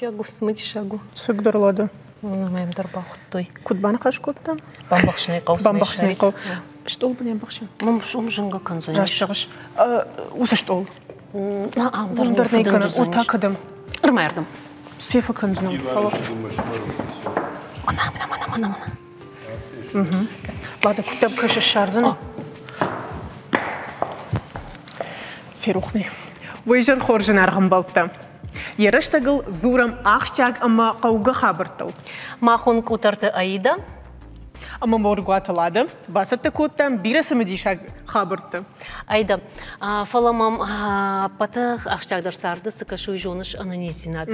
Ахсджиаг у, цымыдисаг у. Цыгдӕр Лада. Мӕм дӕр бахуыдтой. Куыд баныхас кодтам? Бамбӕхсынӕй хъӕуы. Бамбӕхсынӕй хъӕуы. Стъол бын ӕмбӕхсӕн. Уым зынгӕ кӕндзӕнис. Раст зӕгъыс. Уыцы стъол. Ам дӕр дӕр нӕ кӕнын. О, та кӕдӕм? Ӕрмӕрдӕм. Сефа кӕндзынӕн. Фӕлӕ. Мана, мана, мана, мана, мана. Лада, куыд дӕм кӕсы, ссардзынӕ? Ферох нӕ. Уый зӕр хорз зынаргъ ӕмбӕлттӕ. Йӕ рӕстӕгыл дзурӕм ахсджиаг ӕмӕ хъӕугӕ хабӕрттыл. Махон Къутӕрты Аида ӕмӕ Моргуаты Лада бацӕттӕ кодтам бирӕ цымыдисаг хабӕрттӕ. Аида, фӕлӕ мӕм ӕппӕты ахсджиагдӕр царды цы кӕсы, уый зоныс ӕнӕниздзинад.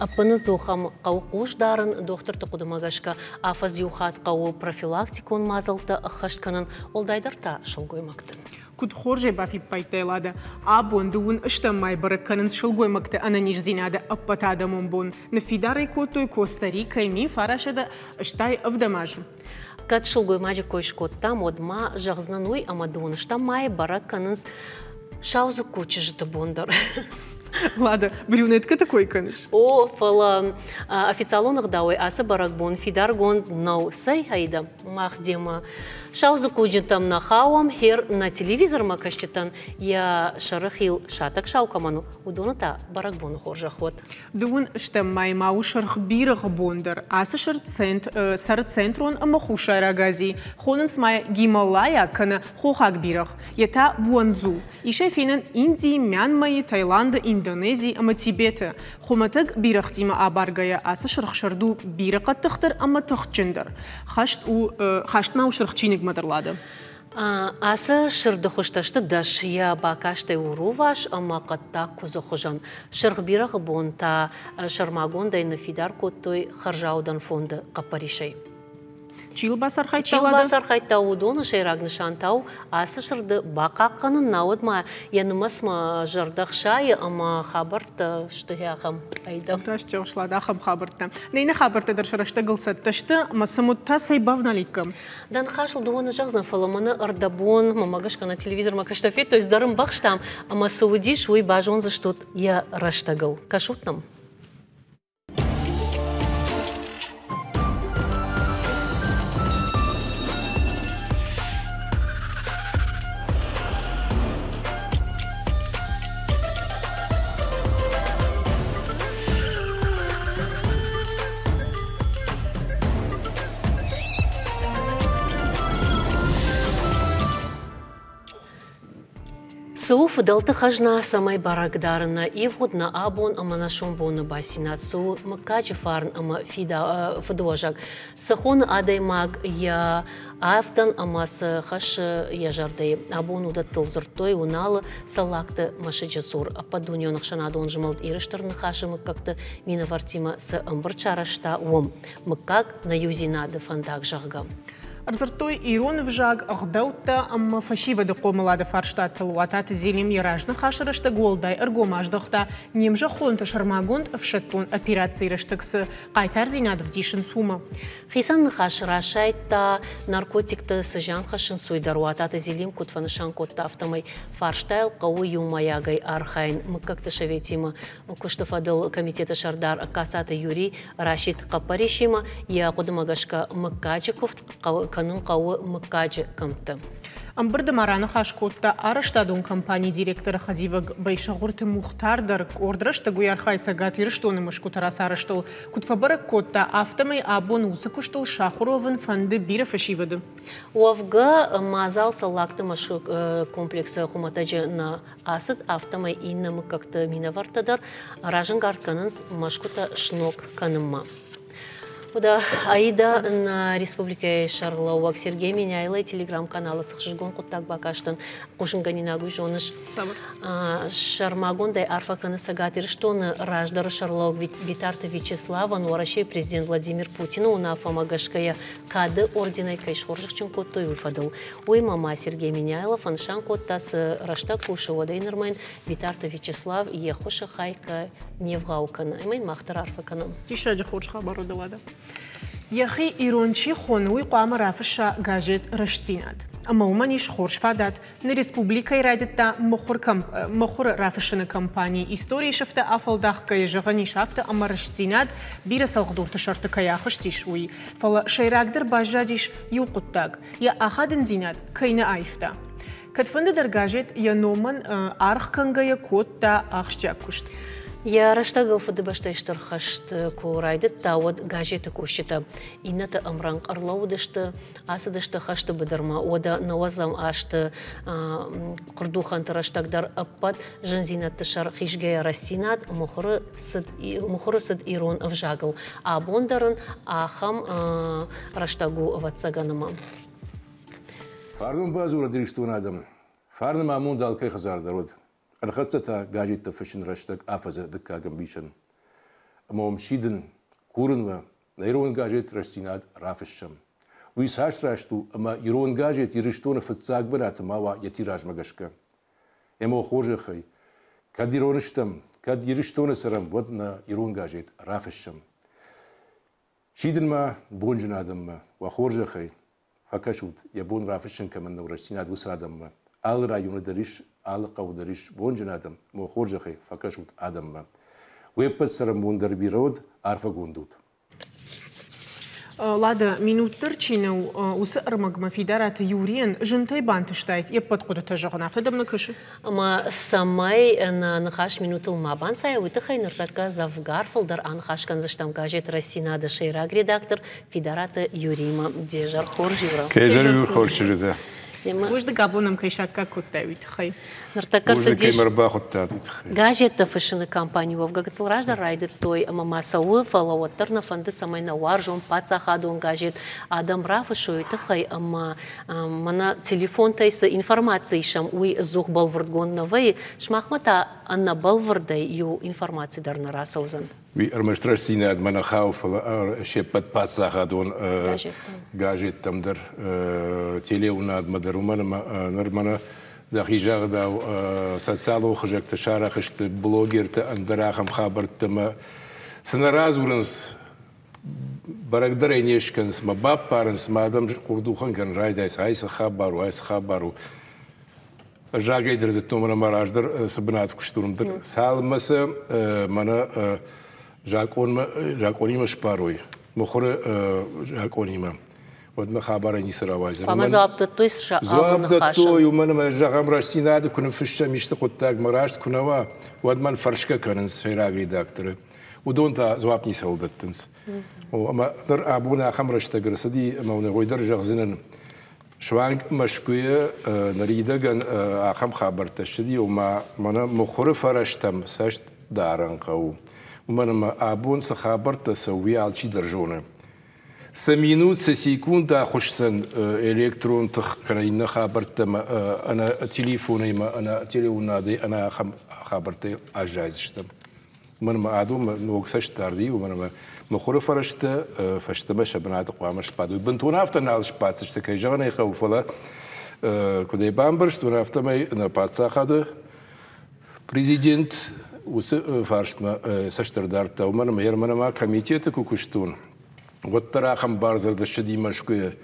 Ӕппыныдзух ӕм хъӕуы хъус дарын, дохтырты хъуыдымӕ гӕсгӕ афӕдз иу хатт хъӕуы профилактикон мадзӕлттӕ ӕххӕст кӕнын, уӕлдайдӕр та сылгоймӕгты. Куыд хорзӕй бафиппайдтай, Лада, абон дыууын стӕм мӕй бӕрӕг кӕнынц сылгоймӕгты ӕнӕниздзинады ӕппӕтадӕмон бон. Ныффидар ӕй кодтой Коста-Рикӕйы 1987 азы. Кӕд сылгоймаджы кой скодтам, уӕд ма зӕгъдзынӕн уый, ӕмӕ дыууын стӕм мӕйы бӕрӕг кӕнынц саудзыкку чызджыты бон дӕр. Лада, брюнеткӕты кой кӕныс? О, фӕлӕ официалон ӕгъдауӕй ацы бӕрӕгбон фидаргонд нӕу. Цӕй, Аида, мах демӕ саудзыккуджынтӕм нӕ хауӕм, хер нӕ телевизормӕ кӕсджытӕн йӕ сӕрыхил сатӕг сау кӕмӕн у, уыдоны та бӕрӕгбоны хорзӕх уӕд. Дыууын стӕм мӕй ма у сырх бирӕгъы бон дӕр. Ацы сырд цӕры центрон ӕмӕ хуссайраг Азийы. Хонынц ма йӕ Гималайаг кӕнӕ хохаг бирӕгъ, йе та Буанзу. Ис ӕй фенӕн Индийы, Мьянмӕйы, Таиланды, Индонезийы ӕмӕ Тибеты. Хуымӕтӕг бирӕгътимӕ абаргӕйӕ ацы сырх сырд у бирӕ хъӕддыхдӕр ӕмӕ тыхджындӕр. Хӕст у, хӕст ма у сырх чиныгмӕ дӕр лады. Ацы сырды хуызтӕ сты дӕс, йӕ бакастӕй у рувас ӕмӕ хъӕддаг куыдзы хуызӕн. Сырх бирӕгъы бон та сӕрмагондӕй ныффидар кодтой хӕрзаудӕн фонды хъӕппӕрисӕй. Чи йыл бацархайдта? Чи йыл бацархайдта, уыдоны сӕйраг нысан та у ацы сырды бахъахъхъӕнын, науӕд ма йӕ нымӕцмӕ зӕрдӕ хсайы ӕмӕ хабӕрттӕ сты ахӕм айдӕм. Раст зӕгъыс, Лада, ахӕм хабӕрттӕ. Нӕ иннӕ хабӕрттӕ дӕр сӕ рӕстӕгыл цӕттӕ сты, ӕмӕ сӕм уӕд та цӕй бавналиккам? Дӕ ныхасыл дыууӕ нӕ зӕгъдзӕн, фӕлӕ мӕнӕ ӕрдӕбон, мӕмӕ гӕсгӕ нӕ телевизормӕ кӕстӕ федтой, цыдӕр ӕмбӕхстам, ӕмӕ цы уыдис, уый базондзыстут йӕ рӕстӕгыл. Кӕсут нӕм. Цы у фыдӕлты хӕзна, цӕмӕй бӕрӕг дары нӕ ивгъуыд, нӕ абон ӕмӕ нӕ сомбоны бацинад, цы у мыггаджы фарн ӕмӕ фыдыуӕзӕг, цы хоны адӕймаг йӕ авдӕн ӕмӕ цы хӕссы йӕ зӕрдӕйы. Абон уыдӕттыл дзырдтой Уыналы Цӕллагты мӕсыджы цур ӕппӕтдунеон ӕхсӕнадон змӕлд Иры Стыр Ныхасы мыггӕгты минӕвӕрттимӕ цы ӕмбырд сарӕзта, уым. Мыггаг нӕ иудзинады фӕндаг, зӕгъгӕ. Ӕрдзырдтой ирон ӕвзаг, ӕгъдӕуттӕ ӕмӕ фӕсивӕды хъомылады фарстатыл. Уататы Зелим йӕ разныхасы рӕстӕг уӕлдай ӕргом аздӕхта, не мзӕххонты сӕрмагонд ӕфсӕддон операцийы рӕстӕг цы хъайтардзинад ӕвдисынц, уымӕ. Хицӕн ныхас расайдта, наркотикты цы зиан хӕссынц, уый дӕр. Уататы Зелим куыд фӕнысан кодта, афтӕмӕй фарстайыл хъӕуы иумӕйагӕй архайын. Мыггӕгты советимӕ куысты фӕдыл комитеты сӕрдар Ӕгкацаты Юрий расидт хъӕппӕрисимӕ, йӕ хъуыдымӕ гӕсгӕ мыггаджы куывд кӕнын хъӕуы мыггаджы кӕмтты. Ӕмбырды ма раныхас кодта арӕзтадон компанийы директоры хӕдивӕг Байсӕгъуырты Мухтар дӕр. Къорд рӕстӕг уый архайы Цӕгат Ирыстоны мӕсгуыты рацарӕзтыл. Куыд фӕбӕрӕг кодта, афтӕмӕй абон уыцы куыстыл сахуыр уӕвын фӕнды бирӕ фӕсивӕды. Уӕвгӕ, мадзал Цӕллагты мӕсыг комплексы хуымӕтӕджы нӕ ацыд, афтӕмӕй иннӕ мыггӕгты минӕвӕрттӕ дӕр разӕнгард кӕнынц мӕсгуытӕ сног кӕнынмӕ. Уӕдӕ Аида нӕ республикӕйы сӕргълӕууӕг Сергей Меняйлойы телеграм-каналы цы хсызгон хъуыддаг бакастӕн, хъусынгӕнинаг уый зоныс. Сӕрмагондӕй арфӕ кӕны Цӕгат Ирыстоны раздӕры сӕргълӕууӕг Битарты Вячеславӕн Уӕрӕсейы президент Владимир Путины уынаффӕмӕ гӕсгӕ йӕ Кады орденӕй кӕй схорзӕхджын кодтой, уый фӕдыл. Уыимӕ ма Сергей Меняйло фӕнысан кодта, цы рӕстӕг кусы, уӕдӕй нырмӕ йын Битарты Вячеслав йе ххуысы хай кӕй не вгъау кӕны. Ӕмӕ йын мах дӕр арфӕ кӕнӕм. Диссаджы хорз хабар у, Лада. Йӕхи ирон чи хоны, уый хъуамӕ рафысса газет «Рӕстдзинад». Ӕмӕ уымӕн ис хорз фадат. Нӕ республикӕйы райдыдта мыхуыры рафыссыны кампани. Историйы сыфтӕ афӕлдахгӕйӕ зӕгъӕн ис афтӕ, ӕмӕ рӕстдзинад бирӕ цӕлхдурты сӕрты кӕй ахызтис, уый. Фӕлӕ сӕйрагдӕр баззадис иу хъуыддаг – йӕ ахадындзинад кӕй нӕ аивта. Кӕдфӕндыдӕр газет йӕ номӕн аргъ кӕнгӕйӕ кодта ахсджиаг куыст. Йӕ рӕстӕгыл Фыдыбӕстӕйы Стыр хӕст куы райдыдта, уӕд газеты кусджытӕ иннӕты ӕмрӕнхъ ӕрлӕууыдысты, ацыдысты хӕсты быдырмӕ. Уӕдӕ нӕуӕдзӕм азты хъуырдухӕнты рӕстӕг дӕр ӕппӕт зындзинӕдты сӕр хизгӕйӕ рӕстдзинад мыхуыры цыд ирон ӕвзагыл. Абон дӕр ын ахӕм рӕстӕг у, ӕвӕццӕгӕн, ӕмӕ. Фарнон бадзурӕд Ирыстоны адӕм. Фарны ма амонд алкӕй хӕдзар дӕр уыд. Ӕрхӕццӕ та газеттӕ фыссын рӕстӕг афӕдзы дыккаг ӕмбисӕн. Ӕмӕ уӕм сидын, курын уӕ, нӕ ирон газет Рӕстдзинад рафыссӕм. Уый цас раст у, ӕмӕ ирон газет Ирыстоны фыццаг бынаты ма уа йӕ тиражмӕ гӕсгӕ. Ӕмӕ хорзӕхӕй, кӕд ирон стӕм, кӕд Ирыстоны цӕрӕм, уӕд нӕ ирон газет рафыссӕм. Сидын ма бонджын адӕммӕ, уӕ хорзӕхӕй, фӕкӕсут, йӕ бон рафыссын кӕмӕн нӕу рӕстдзинад, уыцы адӕммӕ. Алы районы дӕр ис, алы хъӕуы дӕр ис бонджын адӕм, ӕмӕ хорзӕхӕй фӕкӕсут адӕммӕ. Уе ппӕт цӕрӕнбон дӕр бирӕ уӕд, арфӕгонд ут. Лада, минут дӕр чи нӕу, уыцы ӕрмӕгмӕ Фидараты Юрийӕн зынтӕй бантыстаид йе ппӕт хъуыдытӕ зӕгъын, афтӕ дӕм нӕ кӕсы? Ӕмӕ цӕмӕй нӕ ныхас минутыл ма банцайа, уый тыххӕй ныртӕккӕ дзӕвгар фылдӕр аныхас кӕндзыстӕм газет «Рӕстдзинад-ы» сӕйраг редактор Фидараты Юриимӕ. Де зӕр хорз, Юра. Кӕй зӕр хорз чызджытӕ. Бузныг абон ӕм кӕй саккаг кодтай, уый тыххӕй. Ныртӕккӕ ӕрцыдис газеттӕ фыссыны кампани уӕвгӕ гыццыл раздӕр райдыдтой ӕмӕ ма цӕуы, фӕлӕ уӕддӕр нӕ фӕнды, цӕмӕй нӕ уарзон паддзахадон газет адӕм рафыссой, уый тыххӕй ӕмӕ мӕнӕ телефонтӕй цы информаци исӕм, уый ӕдзух бӕлвырдгонд нӕ вӕййы, сымахмӕ та ӕнӕбӕлвырдӕй иу информаци дӕр нӕ рацӕудзӕн. Уый ӕрмӕст рӕстдзинадмӕ нӕ хауы, фӕлӕ се ппӕт паддзахадон газеттӕм дӕр, телеуынадмӕ дӕр, уымӕн ӕмӕ ныр мӕнӕ дӕхи загъдау социалон хызӕгты сарӕх сты блогертӕ, ӕндӕр ахӕм хабӕрттӕ ӕмӕ цы нӕ радзурынц, бӕрӕгдӕр ӕй не скӕнынц мӕ баппарынц, мӕ адӕм хъуырдухӕн кӕнын райдайынц, ай цы хабар у, ай цы хабар у. Ӕз рагӕй дӕр зыдтон, мӕнӕ мӕ раздӕр цы бынаты куыстон, уым дӕр. Цалынмӕ сӕ мӕнӕ закъонмӕ, закъонимӕ сбарой, мыхуыры закъонимӕ, уӕдмӕ хабарӕй ницы рауайдзӕн. Хъуамӕ дзуапп дӕттой сӕ алы Дзуапп дӕттой, уымӕн ӕмӕ, зӕгъӕм, рӕстдзинады куы ныффыссӕм исты хъуыддагмӕ раст куы нӕ уа, уӕд мӕн фӕрсгӕ кӕнынц сӕйраг редакторы. Уыдон та дзуапп ницӕуыл дӕттынц. Ӕмӕ ныр абон ахӕм рӕстӕг ӕрцыди, ӕмӕ уын уый дӕр зӕгъдзынӕн, суанг Мӕскуыйы ныридӕгӕн ахӕм хабӕрттӕ ссыди, ома мӕнӕ мыхуыры фӕрӕзтӕм цӕст дарын хъӕуы. Уымӕн ӕмӕ абон цы хабӕрттӕ цӕуы, уый алчидӕр зоны. Цы минут, цы секунд ахуысдзӕн электрон тых кӕнӕ иннӕ хабӕрттӕ ӕнӕ телефонӕй ӕмӕ ӕнӕ телеуынадӕй ӕнӕ ахӕм хабӕрттӕй аззайдзыстӕм. Уымӕн ӕмӕ адонмӕ ног цӕстдард и, уымӕн ӕмӕ мыхуыры фӕрӕзтӕ фӕстӕмӕ сӕ бынаты хъуамӕ сбадой. Бынтон афтӕ нал сбаддзысты, кӕй зӕгъын ӕй хъӕуы, фӕлӕ куыд ӕй бамбӕрстон, афтӕмӕй нӕ паддзахады президент уыцы фарстмӕ цӕст ӕрдардта, уымӕн ӕмӕ мӕнӕ ма комитеты куы куыстон, уӕддӕр ахӕм бардзырд ссыди Мӕскуыйы.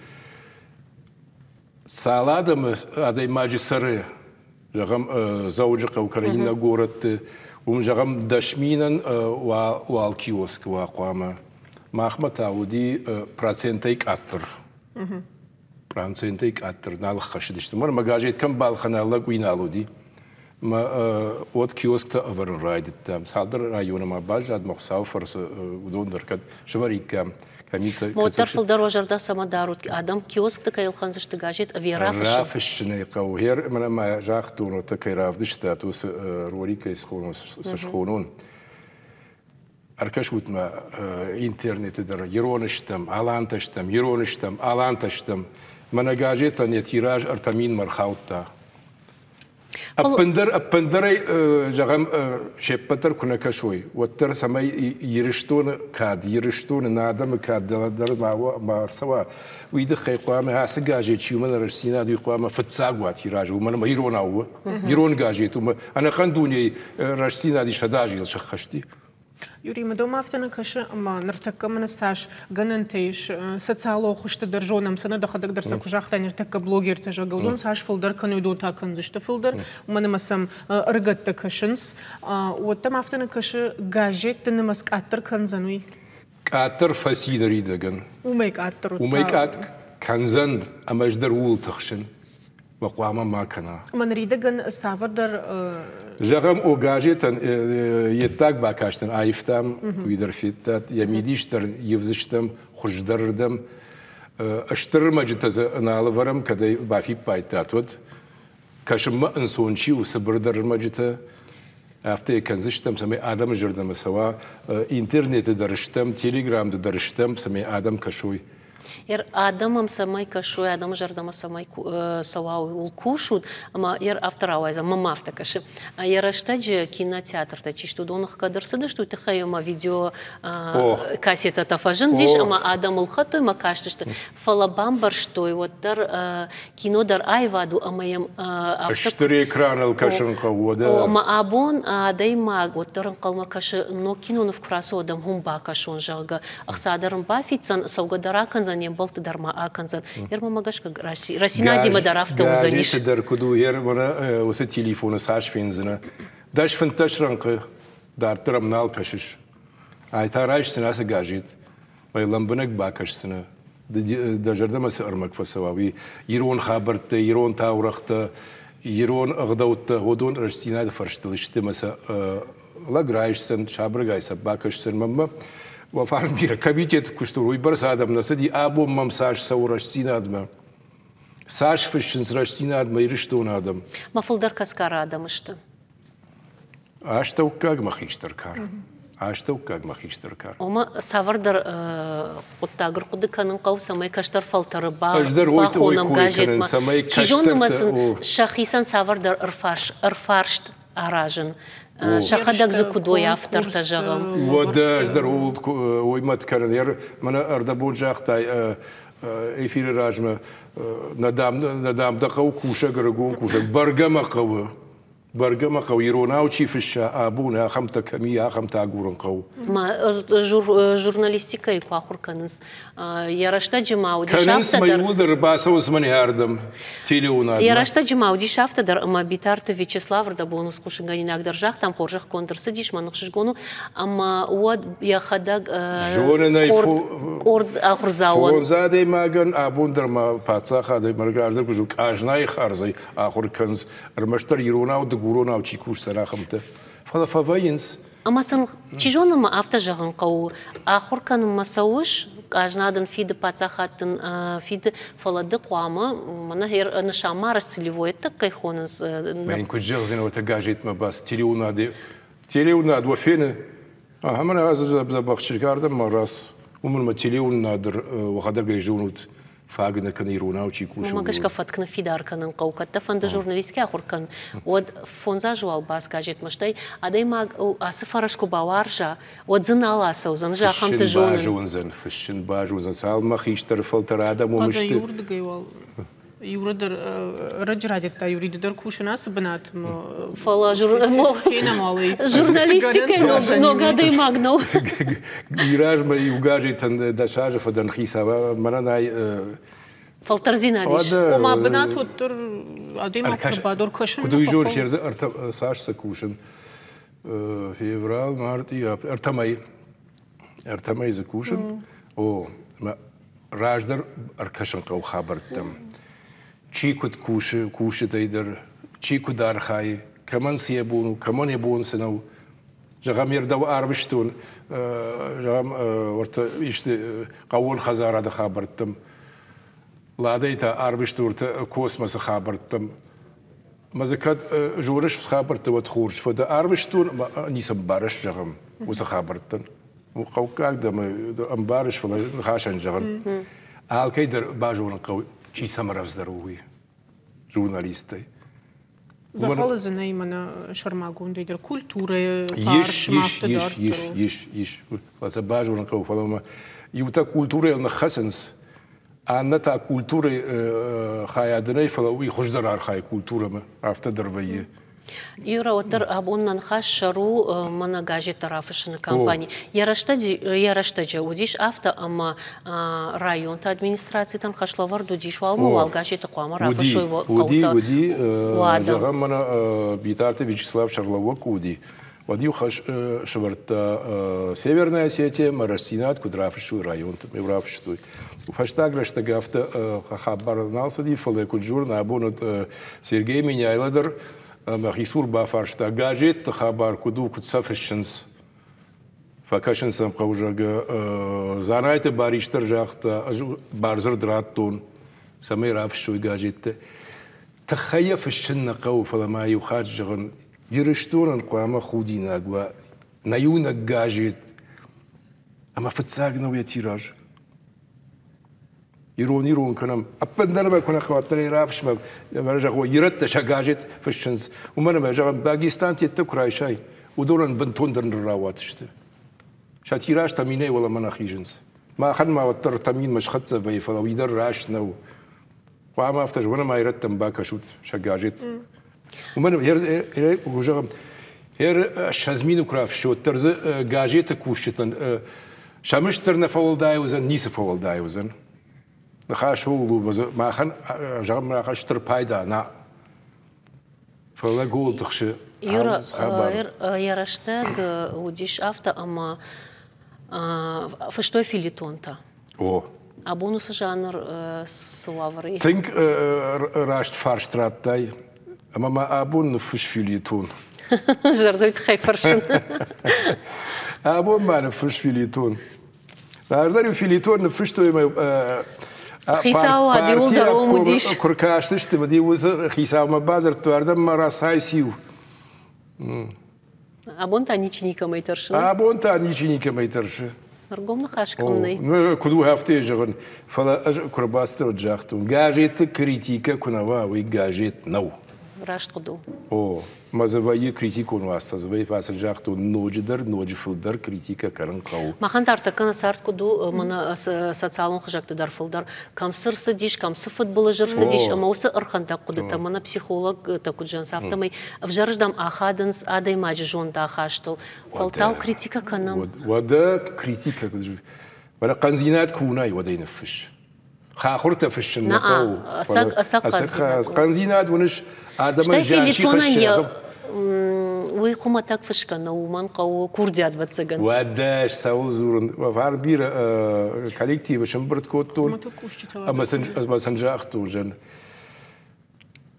Цал адӕмы адӕймаджы цӕры, зӕгъӕм, Дзӕуджыхъӕу кӕнӕ иннӕ горӕтты, уым, зӕгъӕм, 10 000-ӕн уал киоскы уа хъуамӕ. Махмӕ та уыди процентӕй къаддӕр. Процентӕй къаддӕр нал ӕххӕссыдысты. Уымӕн ӕмӕ газет кӕм балхӕна, лӕг уый нал уыди. Мӕ уӕд киосктӕ ӕвӕрын райдыдтам. Цалдӕр районы ма баззад, мӕ Хуыцауы фӕрцы уыдон дӕр кӕд сӕвӕриккам. Уӕддӕр фылдӕр уӕ зӕрдӕ цӕмӕ дарут, адӕм киоскты кӕй ӕлхӕндзысты газет ӕви рафыссын? Рафыссын ӕй хъӕуы. Гъер мӕнӕ ма загътон, уӕдта кӕй равдыстат, уыцы роликӕй цы схонон. Ӕркӕсут-ма интернеты дӕр, ирон стӕм, алантӕ стӕм, ирон стӕм, алантӕ стӕм. Мӕнӕ газетӕн йӕ тираж 3 000-мӕ ӕрхаудта. Ӕппындӕр, ӕппындӕрӕй, зӕгъӕм, се ппӕт дӕр куы нӕ кӕсой, уӕддӕр цӕмӕй Ирыстоны кад, Ирыстоны нӕ адӕмы кад дӕр ма ӕрцӕуа, уый тыххӕй хъуамӕ ацы газет чи уымӕн рӕстдзинад, уый хъуамӕ фыццаг уа тиражы, уымӕн ӕмӕ иронау у, ирон газет, уымӕ ӕнӕхъӕн дунейы рӕстдзинад 100 азы йыл сӕххӕсти. Юрий, мӕ афтӕ нӕ кӕсы, ӕмӕ ныртӕккӕ мӕнӕ цас гӕнӕнтӕ ис социалон хуызты дӕр зонӕм, сӕ нӕ дӕхӕдӕг дӕр сӕ куы загътай, ныртӕккӕ блогертӕ, зӕгъгӕ, уыдон цас фылдӕр кӕны, уыдон та кӕндзысты фылдӕр, уымӕн ӕмӕ сӕм ӕрыгӕттӕ кӕсынц. Уӕд дӕм афтӕ нӕ кӕсы, газетты нымӕц къаддӕр кӕндзӕн уый? Къаддӕр фӕци ныридӕгӕн. Уымӕй къаддӕр. Уымӕй къаддӕр кӕндзӕн, ӕмӕ ӕз дӕр ууыл тыхсын. Мӕ хъуамӕ ма кӕна. Ӕмӕ ныридӕгӕн цавӕрдӕр Зӕгъӕм, о газетӕн йе ддаг бакастӕн аивтам, уый дӕр федтат, йӕ мидис дӕр ивдзыстӕм хуыздӕрырдӕм. Стыр ӕрмӕджытӕ дзы нал ӕвӕрӕм, кӕд ӕй бафиппайдтат, уӕд. Кӕсынмӕ ӕнцон чи у, цыбырдӕр ӕрмӕджытӕ, афтӕ йӕ кӕндзыстӕм, цӕмӕй адӕмы зӕрдӕмӕ цӕуа. Интернеты дӕр стӕм, телеграмты дӕр стӕм, цӕмӕй адӕм кӕсой. Ер адӕмӕм цӕмӕй кӕсой, адӕмы зӕрдӕмӕ цӕмӕй цӕуа, ууыл кусут, ӕмӕ ер афтӕ рауайдзӕн, мӕнмӕ афтӕ кӕсы. Йӕ рӕстӕджы кинотеатртӕ чи сты, уыдон ӕхгӕд ӕрцыдысты, уый тыххӕй ӕмӕ видео кассетӕтӕ фӕзындис, ӕмӕ адӕм ӕлхӕдтой ӕмӕ кастысты. Фӕлӕ бамбӕрстой, уӕддӕр кино дӕр аивад у ӕмӕ йӕм афтӕ Стыр экраныл кӕсын хъӕуы, уӕдӕ. Ӕмӕ абон адӕймаг уӕддӕр ӕнхъӕлмӕ кӕсы, ног киноныв куы рацӕуа, уӕд ӕм уым бакӕсон, зӕгъгӕ. Ӕхца дӕр ын бафиддзӕн, цӕугӕ дӕр акӕндзӕн, йе мбӕлтты дӕр ма акӕндзӕн. Ермӕ гӕсгӕ Рӕстдзинадимӕ дӕр афтӕ уыдзӕнис. Газеты дӕр куыд у, мӕнӕ уыцы телефоны цас фендзынӕ. 10-15 рӕнхъы дарддӕр ӕм нал кӕсыс. Ай та райсдзынӕ ацы газет, мӕ лӕмбынӕг бакӕсдзынӕ. Дӕ зӕрдӕмӕ цы ӕрмӕг фӕцӕуа, уый ирон хабӕрттӕ, ирон таурӕгътӕ, ирон ӕгъдӕуттӕ, уыдон рӕстдзинады фӕрстыл сты ӕмӕ сӕ лӕг райсдзӕн, сабыргай сӕ бакӕсдзӕн. Мӕнмӕ уӕ фарн бирӕ комитеты куысты уыйбӕрц адӕм нӕ цыди, абон мӕм цас цӕуы рӕстдзинадмӕ, цас фыссынц рӕстдзинадмӕ Ирыстоны адӕм. Мӕ фылдӕр кӕсгӕры адӕм сты. Астӕуккаг мӕ хистӕр кар. Астӕуккаг мӕ хистӕр кар. Ома цавӕрдӕр хъуыддаг ӕрхъуыды кӕнын хъӕуы, цӕмӕй кӕстӕр фӕлтӕры бахонӕм газетмӕ. Чи зоны ӕмӕ сын сӕхицӕн цавӕрдӕр ӕрфарст аразын. Сӕхӕдӕг дзы куыд уой автортӕ, зӕгъӕм. Уӕдӕ ӕз дӕр ууыл уый мӕт кӕнын. Мӕнӕ ӕрдӕбон загътай эфиры размӕ, нӕ дам дӕ хъӕуы кусӕг, ӕрыгон кусӕг. Бӕргӕ мӕ хъӕуы. Бӕргӕ мӕ хъӕуы иронау чи фысса абон, ахӕмтӕ кӕм и, ахӕмтӕ агурын хъӕуы. Ма журналистикӕйы куы ахуыр кӕнынц, йӕ рӕстӕджы ма уыдис Кӕнынц афтӕ мӕ дӕр. иууылдӕр бацӕуынц мӕнӕ ардӕм, телеуынадмӕ. Йӕ рӕстӕджы ма уыдис афтӕ дӕр, ӕмӕ Битарты Вячеслав ӕрдӕбон хъусынгӕнинаг дӕр загътам, хорзӕхгонд ӕрцыдис, мӕн ӕхсызгон у, ӕмӕ уӕд йӕхӕдӕг Зонын ӕй, къорд ахуырдзауӕн. Фондз адӕймагӕн абон дӕр ма паддзахадӕй мӕргӕрдӕг куы къазнайы хардзӕй ахуыр кӕнынц, ӕрмӕстдӕр иронау, дыгуронау чи кусдзӕн, ахӕмтӕ. Фӕлӕ фӕвӕййынц. Ӕмӕ сын, чи зоны, ма афтӕ зӕгъын хъӕуы, ахуыр кӕнынмӕ цӕуыс, къазна дын фиды, паддзахад дын фиды, фӕлӕ ды хъуамӕ мӕнӕ нысанмӕарӕзт целевоедтӕ кӕй хонынц. Мӕн куыд зӕгъдзӕн, уӕртӕ газетмӕ бац, телеуынады, телеуынад уӕ фены, ахӕм ӕнӕ дзӕбӕх чызг ардӕм ма рац, уымӕн ӕмӕ телеуынынад уӕхӕдӕг ӕй зонут, фаг нӕ кӕны иронау чи кусы. Уымӕ гӕсгӕ фӕтк ныффидар кӕнын хъӕуы. Кӕд дӕ фӕнды журналистикӕ ахуыр кӕн, уӕд фондз азы уал бац газетмӕ, стӕй адӕймаг ацы фӕрӕз куы бауарза, уӕд дзы нал ацӕудзӕн, ӕз ахӕмты зонын. Базондзӕн, фыссын базондзӕн, цалынмӕ хистӕр фӕлтӕр адӕм уым сты. Иуырдыгӕй уал Юра дӕр ӕрӕджы райдыдта Юриды дӕр кусын ацы бынатмӕ. Фӕлӕ журналистикӕйы ног адӕймаг нӕу. Размӕ иу газетӕн 10 азы фӕдӕн хицау, мӕнӕн ай фӕлтӕрдзинад ис. Ома бынат уӕддӕр адӕймаг куы кӕсын. Куыд уый зоныс, цас сӕ кусын? Февраль, мартъи, ӕртӕ мӕй. Ӕртӕ мӕй дзы кусын. О, раздӕр ӕркӕсын хъӕуы хабӕрттӕм. Чи куыд кусы, кусджытӕй дӕр, чи куыд архайы, кӕмӕн цы йӕ бон у, кӕмӕн йӕ бон цы нӕу. Зӕгъӕм, йе рдӕу арвыстон, зӕгъӕм, уӕртӕ исты хъӕууон хӕдзарады хабӕрттӕм. Ладӕй та арвысты уӕртӕ космосы хабӕрттӕм. Мӕ дзы кӕд зоныс хабӕрттӕ, уӕд хорз, фӕлӕ арвыстон, ницы ӕмбарыс, зӕгъӕм, уыцы хабӕрттӕн. Хъӕуккаг дӕ ӕмбарыс, фӕлӕ ныхасӕн зӕгъын. Алкӕй дӕр базонын хъӕуы, чи цӕмӕ рӕвдздӕр у, уый журналисттӕй. Дзӕгъӕлы дзы нӕй мӕнӕ сӕрмагондӕй дӕр культурӕйы фарс ис, ис, ис, ис, ис. Фӕлӕ сӕ базонын хъӕуы, фӕлӕ ма иутӕ культурӕйыл ныххӕцынц, аннӕ та культурӕйы хайады нӕй, фӕлӕ уый хуыздӕр архайы культурӕмӕ, афтӕ дӕр вӕййы. Юра, уӕддӕр абон нӕ ныхас сӕр у мӕнӕ газеттӕ рафыссыны кампани. Йӕ рӕстӕджы уыдис афтӕ, ӕмӕ районты администрацитӕн хӕслӕвӕрд уыдис, уалмӕ уал газеты хъуамӕ рафыссой хъӕутӕ. Уыди, зӕгъӕм, мӕнӕ Битарты Вячеслав сӕргълӕууӕг куы уыди, уӕд-иу хӕс сӕвӕрдта Северная Осетия ӕмӕ Рӕстдзинад куыд рафыссой районты, рафыстой. Фӕстаг рӕстӕг афтӕ хабар нал цыди, фӕлӕ куыд зонын, абон уыд Сергей Меняйло дӕр мӕхи цур бафарста, газетты хабар куыд у, куыд сӕ фыссынц. Фӕкӕсын сӕм хъӕуы, зӕгъгӕ, Дзанайты Барис дӕр загъта, ӕз бардзырд радтон, цӕмӕй рафыссой газеттӕ. Тыххӕй йӕ фыссын нӕ хъӕуы, фӕлӕ ма иу хатт зӕгъын, Ирыстонӕн хъуамӕ худинаг уа нӕ иунӕг газет ӕмӕ фыццаг нӕу йӕ тираж. Ирон ирон кӕнӕм. Ӕппындӕр ӕмӕ куы нӕ хъӕуӕддӕр ӕй рафысмӕ, зӕгъой, ирӕттӕ сӕ газет фыссынц. Уымӕн ӕмӕ, зӕгъӕм, Дагестан теттӕ куы райсай, уыдонӕн бынтондӕр ныррауат сты. Сӕ тираж таминӕй уӕлӕмӕ нӕ хизынц. Махӕн ма уӕддӕр таминмӕ схӕццӕ вӕййы, фӕлӕ уый дӕр раст нӕу. Хъуамӕ афтӕ зӕгъон, ӕмӕ ирӕттӕм бакӕсут сӕ газет. Уымӕн зӕгъӕм, 20 мины куы рафыссы, уӕддӕр дзы газеты кусджытӕн сӕ мызд дӕр нӕ фӕуӕлдай уыдзӕн, ницы фӕуӕлдай уыдзӕн. Ныхас ууыл у, махӕн, зӕгъӕм, махӕн стыр пайда нӕ. Фӕлӕ гол тыхсы. Юра, йӕ рӕстӕг уыдис афтӕ, ӕмӕ фыстой филитонтӕ. О. Абон уыцы жанр цы уавӕры? Тынг раст фарст радтай. Ӕмӕ ма абон ныффыс филитон. Зӕрдӕйы тыххӕй фӕрсын. Абон ма ныффыс филитон. Раздӕр-иу филитон ныффыстой ӕмӕ Хицауад иуылдӕр уым уыдис. Куы ркастысты, уӕд-иу уыцы хицаумӕ бадзырдтой, ардӕм ма рацӕйциу. Абон та ничи никӕмӕй тӕрсы. Абон та ничи никӕмӕй тӕрсы. Ӕргом ныхас кӕм нӕй. Куыд у афтӕ зӕгъын, фӕлӕ ӕз куы рбацыдтӕн, уӕд загътон, газеты критикӕ куы нӕ уа, уый газет нӕу. Раст хъуыды у. О, мӕ дзы вӕййы критикон уацтӕ, дзы вӕййы фӕцыд загътон, ноджыдӕр, ноджы фылдӕр критикӕ кӕнын хъӕуы. Махӕн та ӕртӕккӕ нӕ цард куыд у, мӕнӕ социалон хызӕгты дӕр фылдӕр кӕм цы рцыдис, кӕм цы фыдбылыз ӕрцыдис, ӕмӕ уыцы ӕрхӕндӕг хъуыдытӕ мӕнӕ психологтӕ куыд зӕгъынц, афтӕмӕй ӕвзӕрыздӕм ахадынц адӕймаджы зондахастыл. Фӕлтау критикӕ кӕнӕм. Уӕдӕ критикӕ, фӕлӕ хъӕндзинад куы уынай, уӕд ӕй ныффысс. Хахуыртӕ фыссын нӕ хъӕуы. Хъӕндзинад уыныс, адӕмӕн зиан чи хӕссы. Уый хуымӕтӕг фысгӕ нӕу, уымӕн хъӕуы курдиат, ӕвӕццӕгӕн. Уӕдӕ цӕуыл дзурын? Фарн бирӕ коллективы сӕмбырд кодтон ӕмӕ сын загътон, зӕн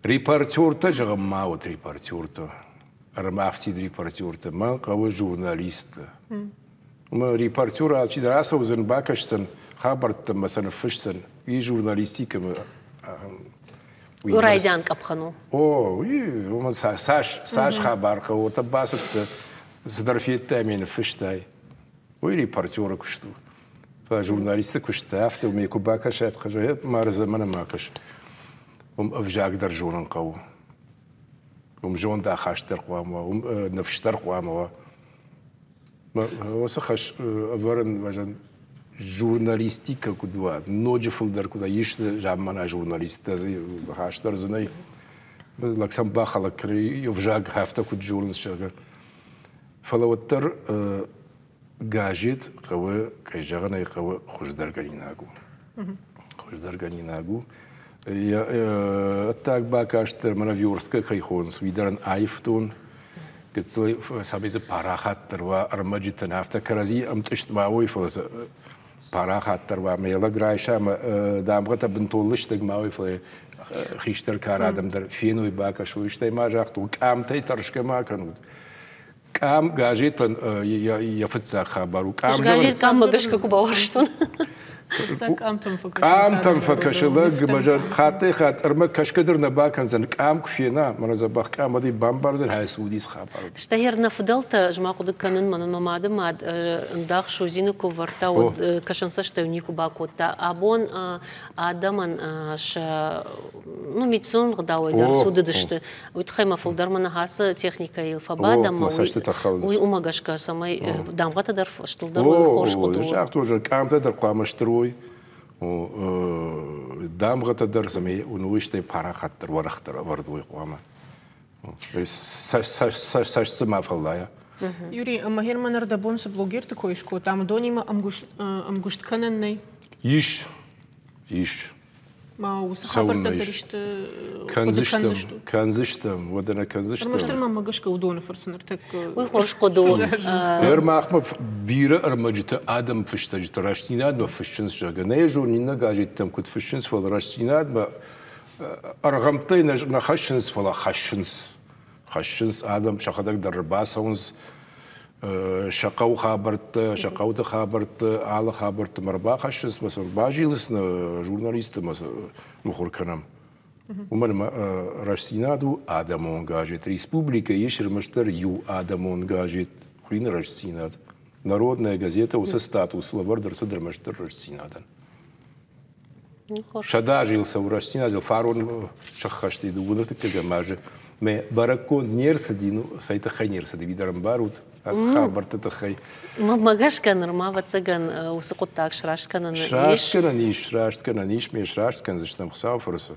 репортертӕ, зӕгъӕм, ма уыд репортертӕ, ӕрмафтид репортертӕ, мӕн хъӕуы журналисттӕ. Ӕмӕ репортер алчидӕр ацӕудзӕн, бакӕсдзӕн хабӕрттӕ ӕмӕ сӕ ныффысдзӕн. Уый журналистикӕмӕ Райдиан къӕпхӕн у. О, уый уымӕн цас, цас хабар хъӕуы, уӕдта бацыдтӕ, цыдӕр федтай ӕмӕ ныффыстай. Уый репортеры куыст у. Фӕлӕ журналисты куыст афтӕ уымӕй куы бакӕсат, мардзӕ мӕнӕ ма кӕс. Уым ӕвзаг дӕр зонын хъӕуы. Уым зондахаст дӕр хъуамӕ уа, уым ныфс дӕр хъуамӕ уа. Уыцы хӕс ӕвӕрын журналистикӕ куыд уа, ноджы фылдӕр куыд уа, ис заммана журналисттӕ, хӕс дӕр дзы нӕй. Лӕг сӕм бахӕлӕг кӕны, ӕвзаг афтӕ куыд зонынц, зӕгъгӕ. Фӕлӕ уӕддӕр газет хъӕуы, кӕй зӕгъын ӕй хъӕуы, хуыздӕргӕнинаг у. Хуыздӕргӕнинаг у. Ӕддаг бакаст дӕр мӕнӕ версткӕ кӕй хонынц, уый дӕр ын аивтон. Гыццыл цӕмӕй дзы парахатдӕр уа ӕрмӕджытӕн, афтӕ кӕрӕдзи ӕмтъыст ма уой, фӕлӕ сӕ парахатдӕр уа, ӕмӕ йӕ лӕг райса ӕмӕ дамгъӕтӕ бынтон лыстӕг ма уой, фӕлӕ хистӕр кары адӕм дӕр феной, бакӕсой. Стӕй ма загътон, къамтӕй тӕрсгӕ ма кӕнут. Къам газетӕн йӕ фыццаг хабар у. Къам газет къаммӕ гӕсгӕ куы бауарзтон. Къамтӕм фӕкӕсы лӕг, хаттӕй-хатт ӕрмӕг кӕсгӕ дӕр нӕ бакӕндзӕн. Къам куы фена, мӕнӕ дзӕбӕх къам, уӕд ӕй бамбардзӕн, хай цы уыдис хабар. Стӕй нӕ фыдӕлтӕ, ӕз ма хъуыды кӕнын, мӕнӕн мӕ мады мад ӕндах судзины куы вӕрдта, уӕд кӕсӕнцӕстӕй никуы бакодта. Абон адӕмӕн сӕ ну, медицинон ӕгъдауӕй дӕр цудыдысты. Уый тыххӕй ма фылдӕр мӕ ныхасы техникӕйыл фӕбадӕм, уый уымӕ гӕсгӕ, цӕмӕй дамгъӕтӕ дӕр стылдӕр уой, хорз хъуыды у. Загътой, къамтӕ дӕр хъуамӕ стыр уой, дамгъӕтӕ дӕр, цӕмӕй уый стӕй парахатдӕр, уӕрӕхдӕр ӕвӕрд уой хъуамӕ. Цӕст дзы ма фӕллайа. Юрий, ӕмӕ Герман ӕрдӕбон цы блогерты кой скодтам, уыдонимӕ ӕмгуыст кӕнӕн нӕй? Ис, ис. Ма уыцы хабӕрттӕ дӕр исты кӕндзыстӕм, кӕндзыстӕм, уӕдӕ нӕ кӕндзыстӕм. Ӕрмӕстдӕр мӕм гӕсгӕ уыдоны фӕрцы ныртӕккӕ. Уый хорз хъуыды у. Ӕрмахмӕ бирӕ ӕрмӕджытӕ адӕм фыстӕджыты рӕстдзинадмӕ фыссынц, зӕгъгӕ. Нӕ зонын, иннӕ газеттӕм куыд фыссынц, фӕлӕ рӕстдзинадмӕ ӕргъӕмттӕй нӕ хӕссынц, фӕлӕ хӕссынц. Хӕссынц адӕм, сӕхӕдӕг дӕр ӕрбацӕуынц сӕ хъӕуы хабӕрттӕ, сӕ хъӕуты хабӕрттӕ, алы хабӕрттӕм ӕрбахӕссынц ӕмӕ сӕм базилынц нӕ журналистты ӕмӕ сӕ мыхуыр кӕнӕм. Уымӕн ӕмӕ Рӕстдзинад у адӕмон газет. Республикӕйы ис ӕрмӕстдӕр иу адӕмон газет, хуыйны Рӕстдзинад. Народная газета уыцы статус лӕвӕрд ӕрцыд ӕрмӕстдӕр Рӕстдзинадӕн. 100 азы йыл цӕуы рӕстдзинадыл фарон сӕххӕст и дыууын ӕртыккӕгӕм азы. Мӕ бӕрӕггонд не рцыди, ну, цӕй тыххӕй не рцыди, уый дӕр ӕмбарут, ацы хабӕртты тыххӕй. Мӕнмӕ гӕсгӕ нырма, ӕвӕццӕгӕн, уыцы хъуыддаг сраст кӕнӕн ис. Сраст кӕнӕн ис, сраст кӕнӕн ис, ме сраст кӕндзыстӕм Хуыцауы фӕрцы.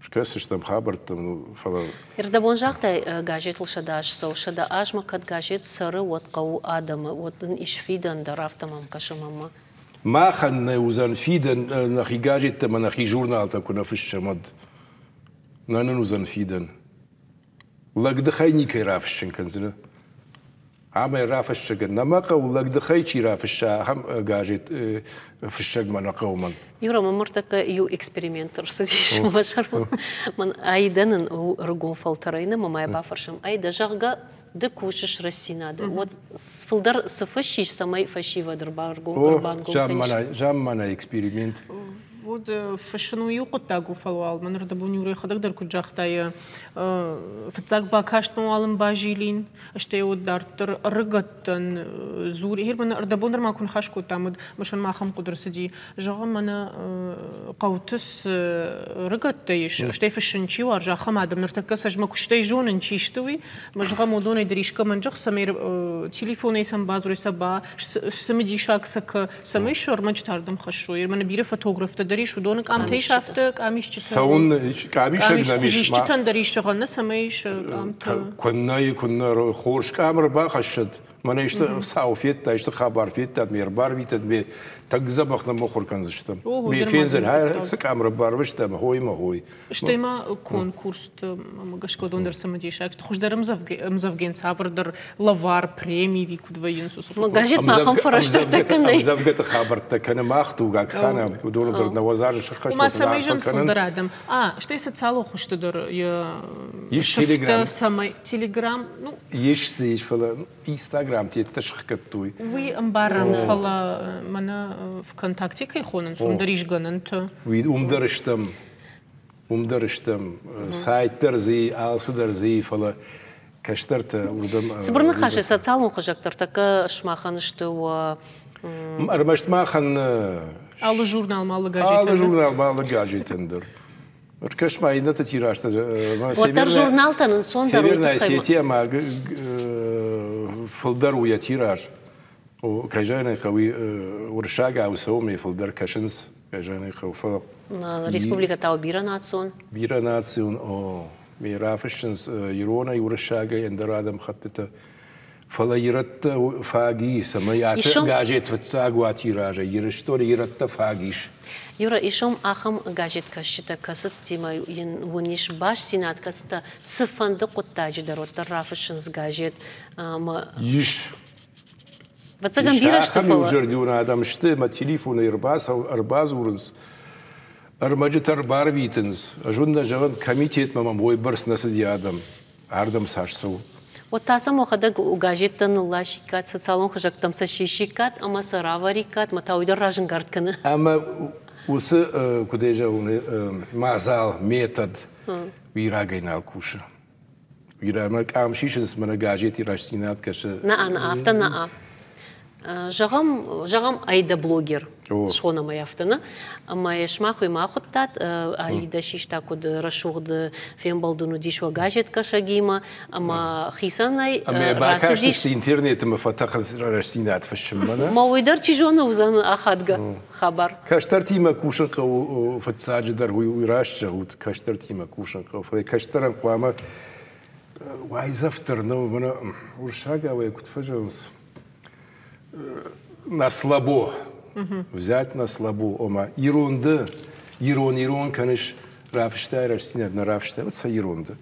Скӕсдзыстӕм хабӕрттӕм, фӕлӕ... Ӕрдӕбон загътай, газетыл 100 азы цӕуы. 100 азмӕ кӕд газет цӕры, уӕд хъӕуы адӕмы, уӕд ын ис фидӕн дӕр, афтӕ мӕм кӕсы мӕнмӕ. Махӕн нӕ уыдзӕн фидӕн, нӕхи газеттӕ ӕмӕ нӕхи журналтӕ куы нӕ фыссӕм, уӕд. Нӕ нын уыдзӕн фидӕн. Лӕгдыхӕй никӕй рафыссын кӕндзынӕ. Ӕмӕ рафыссӕгӕн нӕ мӕ хъӕуы лӕгдыхӕй чи рафысса, ахӕм газет фыссӕгмӕ нӕ хъӕуы мӕн. Юра, мӕм ныртӕккӕ иу эксперимент ӕрцыдис мӕ сӕрмӕ. Мӕн Аидӕ нын у ӕрыгон фӕлтӕрӕй нӕ мӕ бафӕрсӕм. Аидӕ, зӕгъгӕ, ды кусыс Рӕстдзинады, уӕд фылдӕр цы фыссис, цӕмӕй фӕсивӕд ӕрбангом кӕнис? Замманай эксперимент. Вот фыссын у иу хъуыддаг у, фӕлӕ уал мӕн ӕрдӕбон Юрӕ йӕхӕдӕг дӕр куыд загъта, йӕ фыццаг бакастмӕ уал ын базилин, стӕй уӕд дарддӕр ӕрыгӕттӕн дзур. Герман ӕрдӕбон дӕр ма куы ныхас кодтам, уӕд мысын ахӕм хъуыды рцыди. Зӕгъы, мӕнӕ хъӕуты цы ӕрыгӕттӕ ис, стӕй фыссын чи уарзы, ахӕм адӕм ныртӕккӕ сӕ мӕ куыстӕй зонын, чи сты, уый. Мӕ зӕгъӕм, уыдонӕй дӕр искӕмӕн зӕгъ, цӕмӕй телефонӕй сӕм бадзурой, сӕ ба цымыдисаг сӕ кӕ, цӕмӕй сӕ ӕрмӕджытӕ ардӕм хӕссой. Мӕнӕ бирӕ фотографтӕ дӕр ис, уыдоны къамтӕ ис афтӕ къамисджытӕ. Цӕуын къамисӕг нӕм ис. Хуызисджытӕн дӕр ис зӕгъӕн, нӕ цӕмӕй ис къамтӕ. Куыннӕ, куыннӕ хорз къам ӕрбахӕссӕд. Мӕнӕ исты цау федта, исты хабар федтат, ме рбарвитӕд, ме тынг дзӕбӕх ныммыхуыр кӕндзыстӕм. Ме фендзӕн, цы къам ӕрбарвыстам, хой мӕ хой. Стӕй ма конкурсты гӕсгӕ уыдон дӕр цымыдисаг сты. Хуыздӕр ӕмдзӕвгӕйӕн цавӕрдӕр лӕвар, преми ӕви куыд вӕййынц уыцы Газет ма ахӕм фӕрӕзтӕ кӕнӕй. Ӕмдзӕвгӕты хабӕрттӕ кӕны мах туг, Оксана, уыдоны дӕр нӕуӕдз азы сӕххӕст Ма цӕмӕй зын фылдӕр адӕм. А, стӕй социалон хуызты дӕр йӕ сыфтӕ цӕмӕй Телеграм, ну Ис дзы ис, фӕлӕ Инстаграм теттӕ сыхгӕдтой. Уый ӕмбарӕм, фӕлӕ мӕнӕ ВКонтакте кӕй хонынц, уым дӕр ис гӕнӕнтӕ. Уый уым дӕр стӕм. Уым дӕр стӕм. Сайт дӕр дзы, алцы дӕр дзы, фӕлӕ кӕстӕртӕ уырдӕм. Цыбыр ныхасӕй социалон хызӕгтӕ ӕртӕккӕ сымахӕн сты уӕ Ӕрмӕст махӕн алы журнал, алы газетӕн. Алы журнал, алы газетӕн дӕр. Ӕркӕс ма иннӕты тиражтӕ. Уӕддӕр журналтӕн ӕнцондӕр уый Северная Осетия ма фылдӕр у йӕ тираж. Кӕй зӕгъын ӕй хъӕуы, уырыссагау цӕуы фылдӕр кӕсынц, кӕй зӕгъын ӕй хъӕуы, фӕлӕ Республикӕ та у бирӕнацион. Бирӕнацион, о. Ме рафыссынц иронӕй, уырыссагӕй, ӕндӕр адӕмхӕттытӕ. Фӕлӕ ирӕттӕ фаг и, цӕмӕй ацы газет фыццаг уа тиражӕй. Ирыстоны ирӕттӕ фаг ис. Юра, исом ахӕм газеткӕсджытӕ, кӕцытимӕ йын уын ис бастдзинад, кӕцытӕ цыфӕнды хъуыддаджы дӕр уӕддӕр рафыссынц газет ӕмӕ Ис. Ӕвӕццӕгӕн бирӕ сты, Ахӕм иузӕрдион адӕм сты, ӕмӕ телефонӕй ӕрбадзурынц, ӕрмӕджытӕ ӕрбарвитынц. Ӕз уын нӕ зӕгъын, комитетмӕ мӕм уыйбӕрц нӕ цыди адӕм. Ардӕм цас цӕуы? Уӕд та сӕм уӕхӕдӕг газеттӕ нылласиккат, социалон хызӕгтӕм сӕ сисиккат ӕмӕ сӕ равӕриккат, мӕ та уый дӕр разӕнгард кӕны. Ӕмӕ уыцы, куыд ӕй зӕгъон, мадзал, метод уый рагӕй нал кусы. Уый ӕмӕ къам сисынц, мӕнӕ газети рӕстдзинад кӕсы. Нӕ, нӕ, афтӕ нӕ. Зӕгъӕм, зӕгъӕм, ӕй дӕ блогер схонӕм ӕй афтӕ, нӕ? Ӕмӕ йӕ сымах уемӕ ахуыдтат, Аида систа куыд рӕсугъд фембӕлд уын уыдис уӕ газеткӕсӕгимӕ, ӕмӕ хицӕнӕй Ӕмӕ бакастысты интернеты ӕмӕ фӕтӕхынц рӕстдзинад фыссынмӕ, нӕ? Ма уый дӕр, чи зоны, уыдзӕн ахадгӕ хабар. Кӕстӕртимӕ кусын хъӕуы фыццаджыдӕр, уый раст зӕгъут, кӕстӕртимӕ кусын хъӕуы, фӕлӕ кӕстӕрӕн хъуамӕ уайдзӕф дӕр нӕу, мӕнӕ уырыссагау ӕй куыд фӕзӕгъынц, на слабо. Взять на слабо, ома ирон ды, ирон ирон кӕныс, рафыстай рӕстдзинад, нӕ рафыстай, уӕд сӕ ирон ды.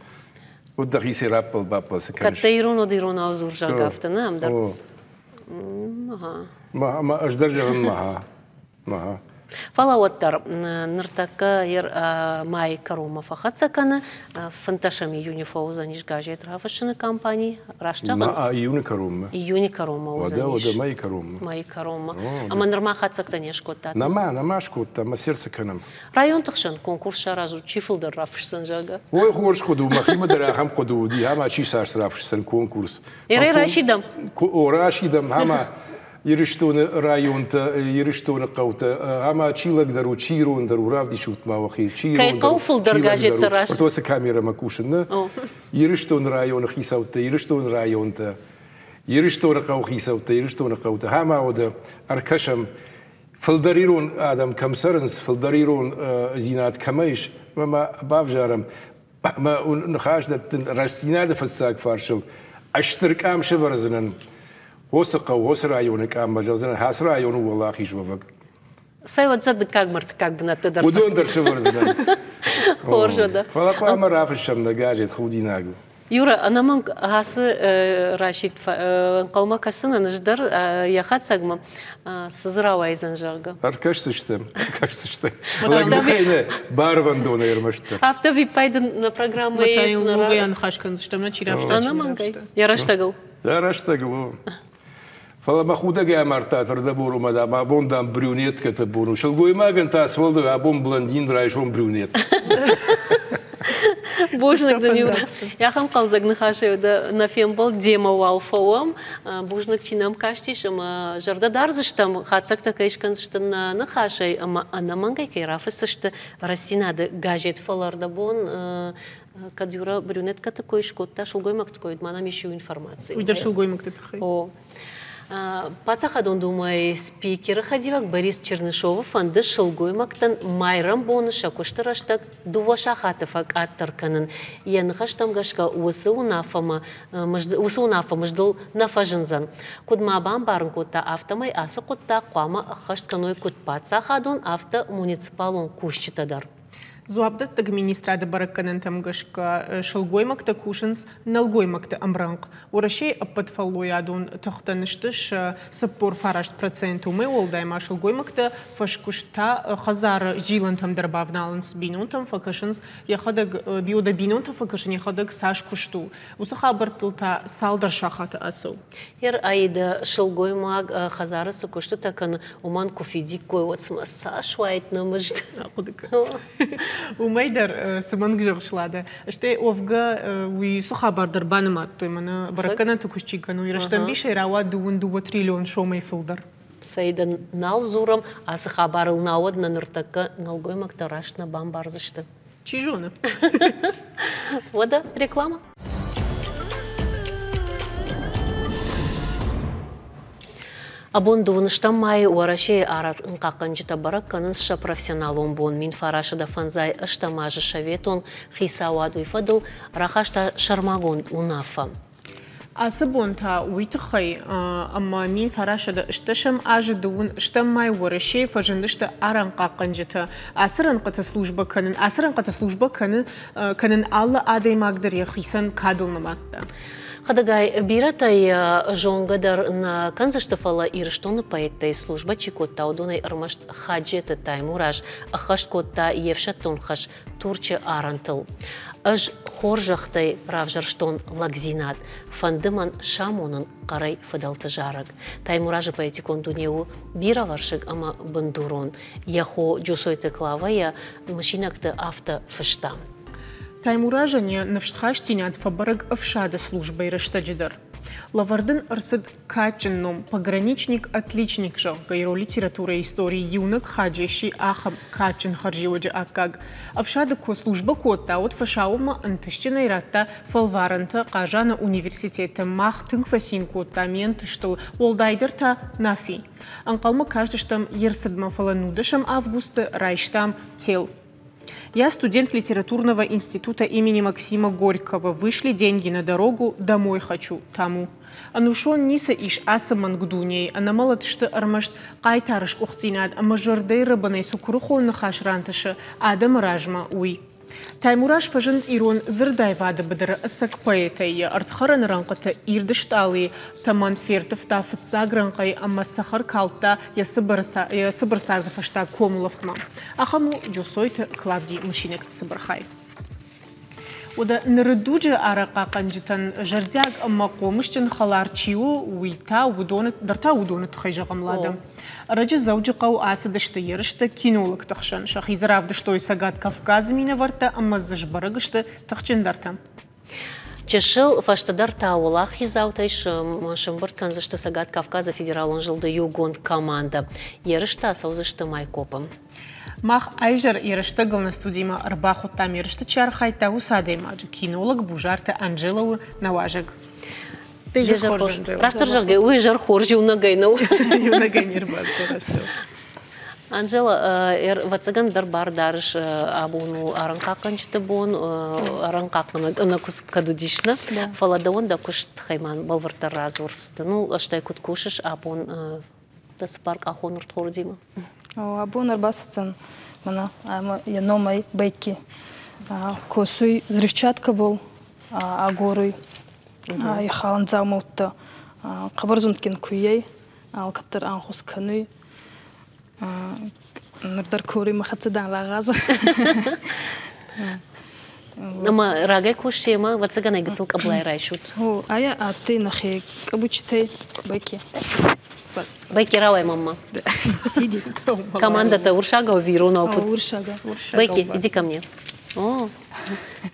Вот дӕхицӕй раппӕл-баппӕл цы кӕныс. Кӕд ирон уыд иронау дзур, зӕгъгӕ, афтӕ нӕ ам дӕр. Ма ӕз дӕр зӕгъын маха. Фӕлӕ уӕддӕр ныртӕккӕ майы кӕронмӕ фӕхӕццӕ кӕны. 15 июны фӕуыдзӕнис газет рафыссыны кампани. Раст зӕгъын? Июны кӕронмӕ. Июны кӕронмӕ уыдзӕнис. Уӕдӕ, уӕдӕ, мӕйы кӕронмӕ. Мӕйы кӕронмӕ. Ӕмӕ нырма хатдзӕгтӕ не скодтат? Нӕма, нӕма скодтам, мӕ сердце кӕнӕм. Районты хсӕн конкурс саразут, чи фылдӕр рафысдзӕн, зӕгъгӕ? Ой, хорз хъуыды у, мӕхимӕ дӕр ахӕм хъуыды уыди, ӕмӕ чи цас рафысдзӕн конкурс. Ерӕй расидӕм. О, расидӕм, ӕмӕ Ирыстоны районтӕ, Ирыстоны хъӕутӕ, ӕмӕ чи лӕгдӕр у, чи ирондӕр у, равдисут ма уӕхи. Чи Кӕй хъӕуы фылдӕр газеттӕ раст? Уыцы камерӕмӕ кусын, нӕ? Ирыстоны районы хицӕуттӕ, Ирыстоны районтӕ, Ирыстоны хъӕуы хицӕуттӕ, Ирыстоны хъӕутӕ. Ӕмӕ уӕдӕ ӕркӕсӕм, фылдӕр ирон адӕм кӕм цӕрынц, фылдӕр ирон дзинад кӕмӕ ис, ӕмӕ бавзарӕм, ӕмӕ ныхас дӕттын рӕстдзинады фыццаг фарсыл стыр къам сӕвӕрдзынӕн Уыцы хъӕу, уыцы районы къаммӕ зӕгъдзынӕн, ацы районы уӕлахиз уӕвӕг. Цӕй уӕд дыккаг мӕрдтыккаг бынӕттӕ дӕр. Уыдон дӕр сӕвӕрдзынӕн. Хорз уӕдӕ. Фӕлӕ хъуамӕ рафыссӕм нӕ газет, худинаг у. Юра, ӕнӕмӕнг ацы расидт ӕнхъӕлмӕ кӕсынӕн ӕз дӕр йӕ хатдзӕгмӕ цы дзы рауайдзӕн, зӕгъгӕ. Ӕркӕсдзыстӕм, ӕркӕсдзыстӕм. Лӕгдыхӕй нӕ, барвӕндонӕй ӕрмӕстдӕр. Афтӕ виппайды нӕ программӕйы ногӕй аныхас кӕндзыстӕм, нӕ чи рафыста, чи нӕ рафыста. Йӕ рӕстӕгыл. Йӕ рӕстӕгыл у. Фӕлӕ мӕ худӕгӕй амардта ӕрдӕбон ӕмӕ дам, абон дам брюнеткӕты бон у. Сылгоймагӕн та цы абон блондин, райсом брюнет. Бузныг дын, Юра. Ахӕм хъӕлдзӕг ныхасӕй дӕ нӕ фембӕлд демӕ уал фӕуӕм. Бузныг, чи нӕм кастис ӕмӕ зӕрдӕ дардзыстӕм, хатдзӕгтӕ кӕй скӕндзысты нӕ ныхасӕй ӕмӕ ӕнӕмӕнгӕй кӕй рафысдзысты Рӕстдзинады газет. Фӕлӕ ӕрдӕбон кӕд Юра брюнеткӕты кой скодта, сылгоймӕгты кой, ма нӕм ис иу информаци. Уый дӕр сылгоймӕгты тыххӕй. О. Паддзахадон Думӕйы спикеры хӕдивӕг Борис Чернышовы фӕнды сылгоймӕгтӕн майрӕмбоны сӕ куысты рӕстӕг 2 сахаты фӕкъаддӕр кӕнын. Йӕ ныхӕстӕм гӕсгӕ уыцы уынаффӕмӕ уыцы уынаффӕ мыздыл нӕ фӕзындзӕн. Куыд ма бамбарын кодта, афтӕмӕй ацы хъуыддаг хъуамӕ ӕххӕст кӕной куыд паддзахадон, афтӕ муниципалон кусджытӕ дӕр. Дзуапдӕттӕг министрады бӕрӕггӕнӕнтӕм гӕсгӕ сылгоймӕгтӕ кусынц нӕлгоймӕгты ӕмрӕнхъ. Уӕрӕсейы ӕппӕт фӕллойадон тыхтӕн сты сӕ 49%. Уымӕй уӕлдай ма сылгоймӕгтӕ фӕскуыст та хӕдзары зилӕнтӕм дӕр бавналынц, бинонтӕм фӕкӕсынц, йӕхӕдӕг биодӕ бинонтӕм фӕкӕсын йӕхӕдӕг цас куыст у, уыцы хабӕрттыл та цалдӕр сахаты ацӕуы. Ер Аида сылгоймаг хӕдзары цы куыстытӕ кӕны, уымӕн куы фидиккой, уӕд цымӕ цас уаид нӕ мызд? Ахъуыды кӕн. Уымӕй дӕр цы мӕнг зӕгъыс, Лада. Стӕй уӕвгӕ уый цы хабар дӕр банымадтой, мӕнӕ бӕрӕггӕнӕнты куыст чи кӕны, уый рӕстӕмбисӕй рауад 22 триллион сомӕй фылдӕр. Цӕй дын нал дзурӕм ацы хабарыл, науӕд нӕ ныртӕккӕ нӕлгоймӕгтӕ раст нӕ бамбардзысты. Чи зоны. Уӕдӕ реклама. Абон дыууынстӕм майы Уӕрӕсейы арӕнхъахъхъӕнджытӕ бӕрӕг кӕнынц сӕ профессионалон бон. 1958 азы советон хицауад уый фӕдыл рахаста сӕрмагонд уынаффӕ. Ацы бон та уый тыххӕй, ӕмӕ 1980 азы дыууын стӕм май Уӕрӕсейы фӕзындысты арӕнхъахъхъӕнджытӕ. Ацы рӕнхъыты службӕ кӕнын, ацы рӕнхъыты службӕ кӕны, кӕнын алы адӕймаг дӕр йӕхицӕн кадыл нымадта. Хӕдӕгай, бирӕтӕ йӕ зонгӕ дӕр нӕ кӕндзысты, фӕлӕ Ирыстоны поэттӕй службӕ чи кодта, уыдонӕй ӕрмӕст Хаджеты Таймураз ӕххӕст кодта йе фсӕддон хӕс Турчы арӕнтыл. Ӕз хорзӕхтӕй равзӕрстон лӕгдзинад, фӕнды мӕн самонын хъӕрӕй фыдӕлты зарӕг. Таймуразы поэтикон дуне у бирӕвӕрсыг ӕмӕ бындурон. Йӕ хо Джусойты Клавӕ йӕ мысинӕгты афтӕ фыста. Таймуразӕн йӕ ныфсхастдзинад фӕбӕрӕг ӕфсады службӕйы рӕстӕджы дӕр. Лӕвӕрд ын ӕрцыд кадджын ном «Пограничник-отличник», зӕгъгӕ, ирон литературӕйы историйы иунӕг Хаджи сси ахӕм кадджын хӕрзиуӕджы аккаг. Ӕфсады куы службӕ кодта, уӕд фӕсаууонмӕ ӕнтыстджынӕй радта фӕлварӕнтӕ Хъазаны университеты. Мах тынг фӕцин кодтам йе нтыстыл, уӕлдайдӕр та Нафи. Ӕнхъӕлмӕ кастыстӕм йе рцыдмӕ, фӕлӕ нудӕсӕм августы райстам тел. Я студент литературного института имени Максима Горького. Вышли деньги на дорогу, домой хочу, тому. Ӕнусон ницы ис ацы мӕнг дунейы, ӕнӕмӕлӕт сты ӕрмӕст хъайтары сгуыхтдзинад ӕмӕ зӕрдӕйы рӕбынӕй цы куырыхон ныхас рантысы адӕмы размӕ, уый. Таймураз фӕзынд ирон дзырдаивады быдыры ӕцӕг поэтӕй, йӕ ӕрдхӕрӕны рӕнхъыты ирд стъалыйы тӕмӕн ферттывта фыццаг рӕнхъӕй ӕмӕ цӕхӕр калдта йӕ цыбыр царды фӕстаг комулӕфтмӕ. Ахӕм у Джусойты Клавдийы мысинӕгты цыбыр хай. Уӕдӕ ныры дуджы арӕхъхъахъхъӕнджытӕн зӕрдиаг ӕмӕ хъомысджын хӕлар чи у, уый та уыдоны дӕр та уыдоны тыххӕй зӕгъӕм Лада. Ӕрӕджы Дзӕуджыхъӕуы ацыдысты ерысты кинологты хсӕн. Сӕхи дзы равдыстой Цӕгат Кавказы минӕвӕрттӕ ӕмӕ дзы сбӕрӕг сты тыхджындӕртӕ. Чысыл фӕстӕдӕр та уӕлахиздзаутӕй сӕмбырд кӕндзысты Цӕгат Кавказы федералон зылды иугонд командӕ. Ерыстӕ ацӕудзысты Майкопы. Мах ӕзӕр ерыстӕгыл нӕ студимӕ ӕрбахуыдтам ерысты чи архайдта, уыцы адӕймаджы кинолог Бузарты Анжела у нӕ уазӕг. Растдӕр зӕгъгӕ, уый зӕр хорз иунӕгӕй нӕу. Иунӕгӕй не рбацыд растдӕр. Анжела, ӕвӕццӕгӕн дӕр бар дарыс абон у арӕнхъахъхъӕнджыты бон, арӕнхъахъхъӕнӕг ӕнӕкуыст кӕд уыдис, нӕ? Фӕлӕ дӕуӕн дӕ куыст тыххӕй ма бӕлвырддӕр радзур. Ну, стӕй куыд кусыс абон дӕ цыппаркъахон ӕрдхордимӕ? Абон ӕрбацыдтӕн мӕнӕ ӕмӕ йӕ номӕй Бекки. Косуй взрывчаткӕбӕл агоруй ихалӕн дзаумӕуттӕ. Хъӕбӕр зундгин куййӕй, алкӕддӕр ӕнхус кӕнуй. Нур дӕр коруй мӕ хӕццӕ дан рагъаза. Ӕма рагӕй кусти ӕма ӕвӕццӕгӕн ӕй гыццыл къӕблай райсут. О, ая адтӕй нӕхе къабучитӕй Бекки. Бекки рауай мамма. Сиди. Команда-то урсагау ӕви иронау? Урсага. Бекки, иди ко мне. О,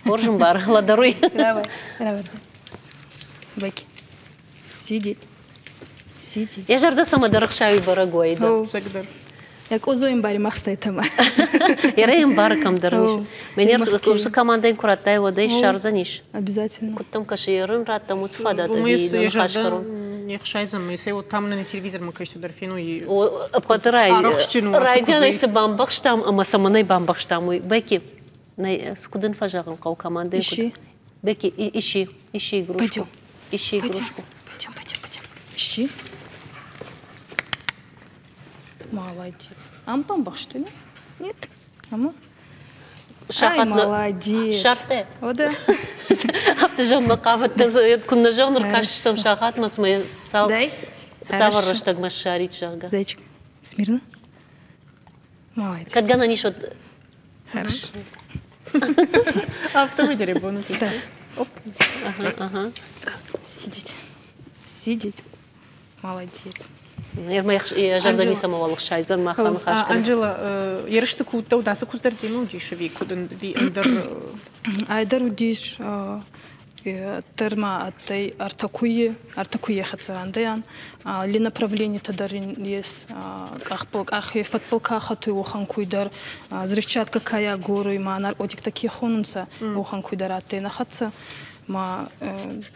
хорз ӕмбар, ладаруй. Давай, давай. Бекки. Сиди. Сиди. Йӕ зӕрдӕ цӕмӕдӕр ӕхсайы бӕрӕг уайд. Цӕгдӕр. Я къозо ӕмбари махстӕй тӕмӕ. Ерӕ ӕмбары кӕмдӕр ис. Мӕнӕ уыцы командӕйӕн куы радтай, уӕд ӕй ссардзӕнис. Обязательно. Куыд дӕм кӕсы, ерын раттӕм уыцы фадат ӕви нӕ ныхас кӕрон? Не хсайдзӕн, ме вот там на телевизормӕ кӕсты дӕр феной. Ӕппӕты райдианӕй цы бамбӕхстам ӕмӕ цӕмӕнӕй бамбӕхстам, уый. Бекки, куыд ын фӕзӕгъын хъӕуы командӕйы? Ищи. Бекки, ищи, ищи игрушку. Пойдем. Ищи игрушку. Пойдем, пойдем, пойдем. Ищи. Молодец. Ам бамбӕхстой, Нет? Ама? Ай, молодец. Шарте. О, да. Афтӕ зӕгъынмӕ хъавыдтӕн, куыннӕ зӕгъын, ӕркастыстӕм сахатмӕ, цымӕ цал Дай. цавӕр рӕстӕгмӕ ссарид, зӕгъгӕ. Зайчик, смирно. Молодец. Кӕд гӕнӕн ис, уӕд Хорошо. Афтӕмӕй дӕр бон. Да. Оп. Ага, ага. Сидеть. Сидеть. Молодец. Зӕрдӕ ницӕмӕуал ӕхсайдзӕн махӕн ныхас Анжела, ерысты куы уыдтӕ, уыд ацы куыдз дӕр демӕ уыдис ӕви куыд ӕви ӕндӕр? Айдӕр уыдис дӕр ма адтӕй ӕртӕ куййи, ӕртӕ куййи хӕццӕ рандӕйан. Алли направленитӕ дӕр ин ес къахбыл къахи фӕдбӕл ка хӕтуй, уӕхӕн куй дӕр. Взрывчатка ка агоруй, ма наркотиктӕ ке хонунцӕ, уӕхӕн куй дӕр адтӕй нӕ хӕццӕ. Ма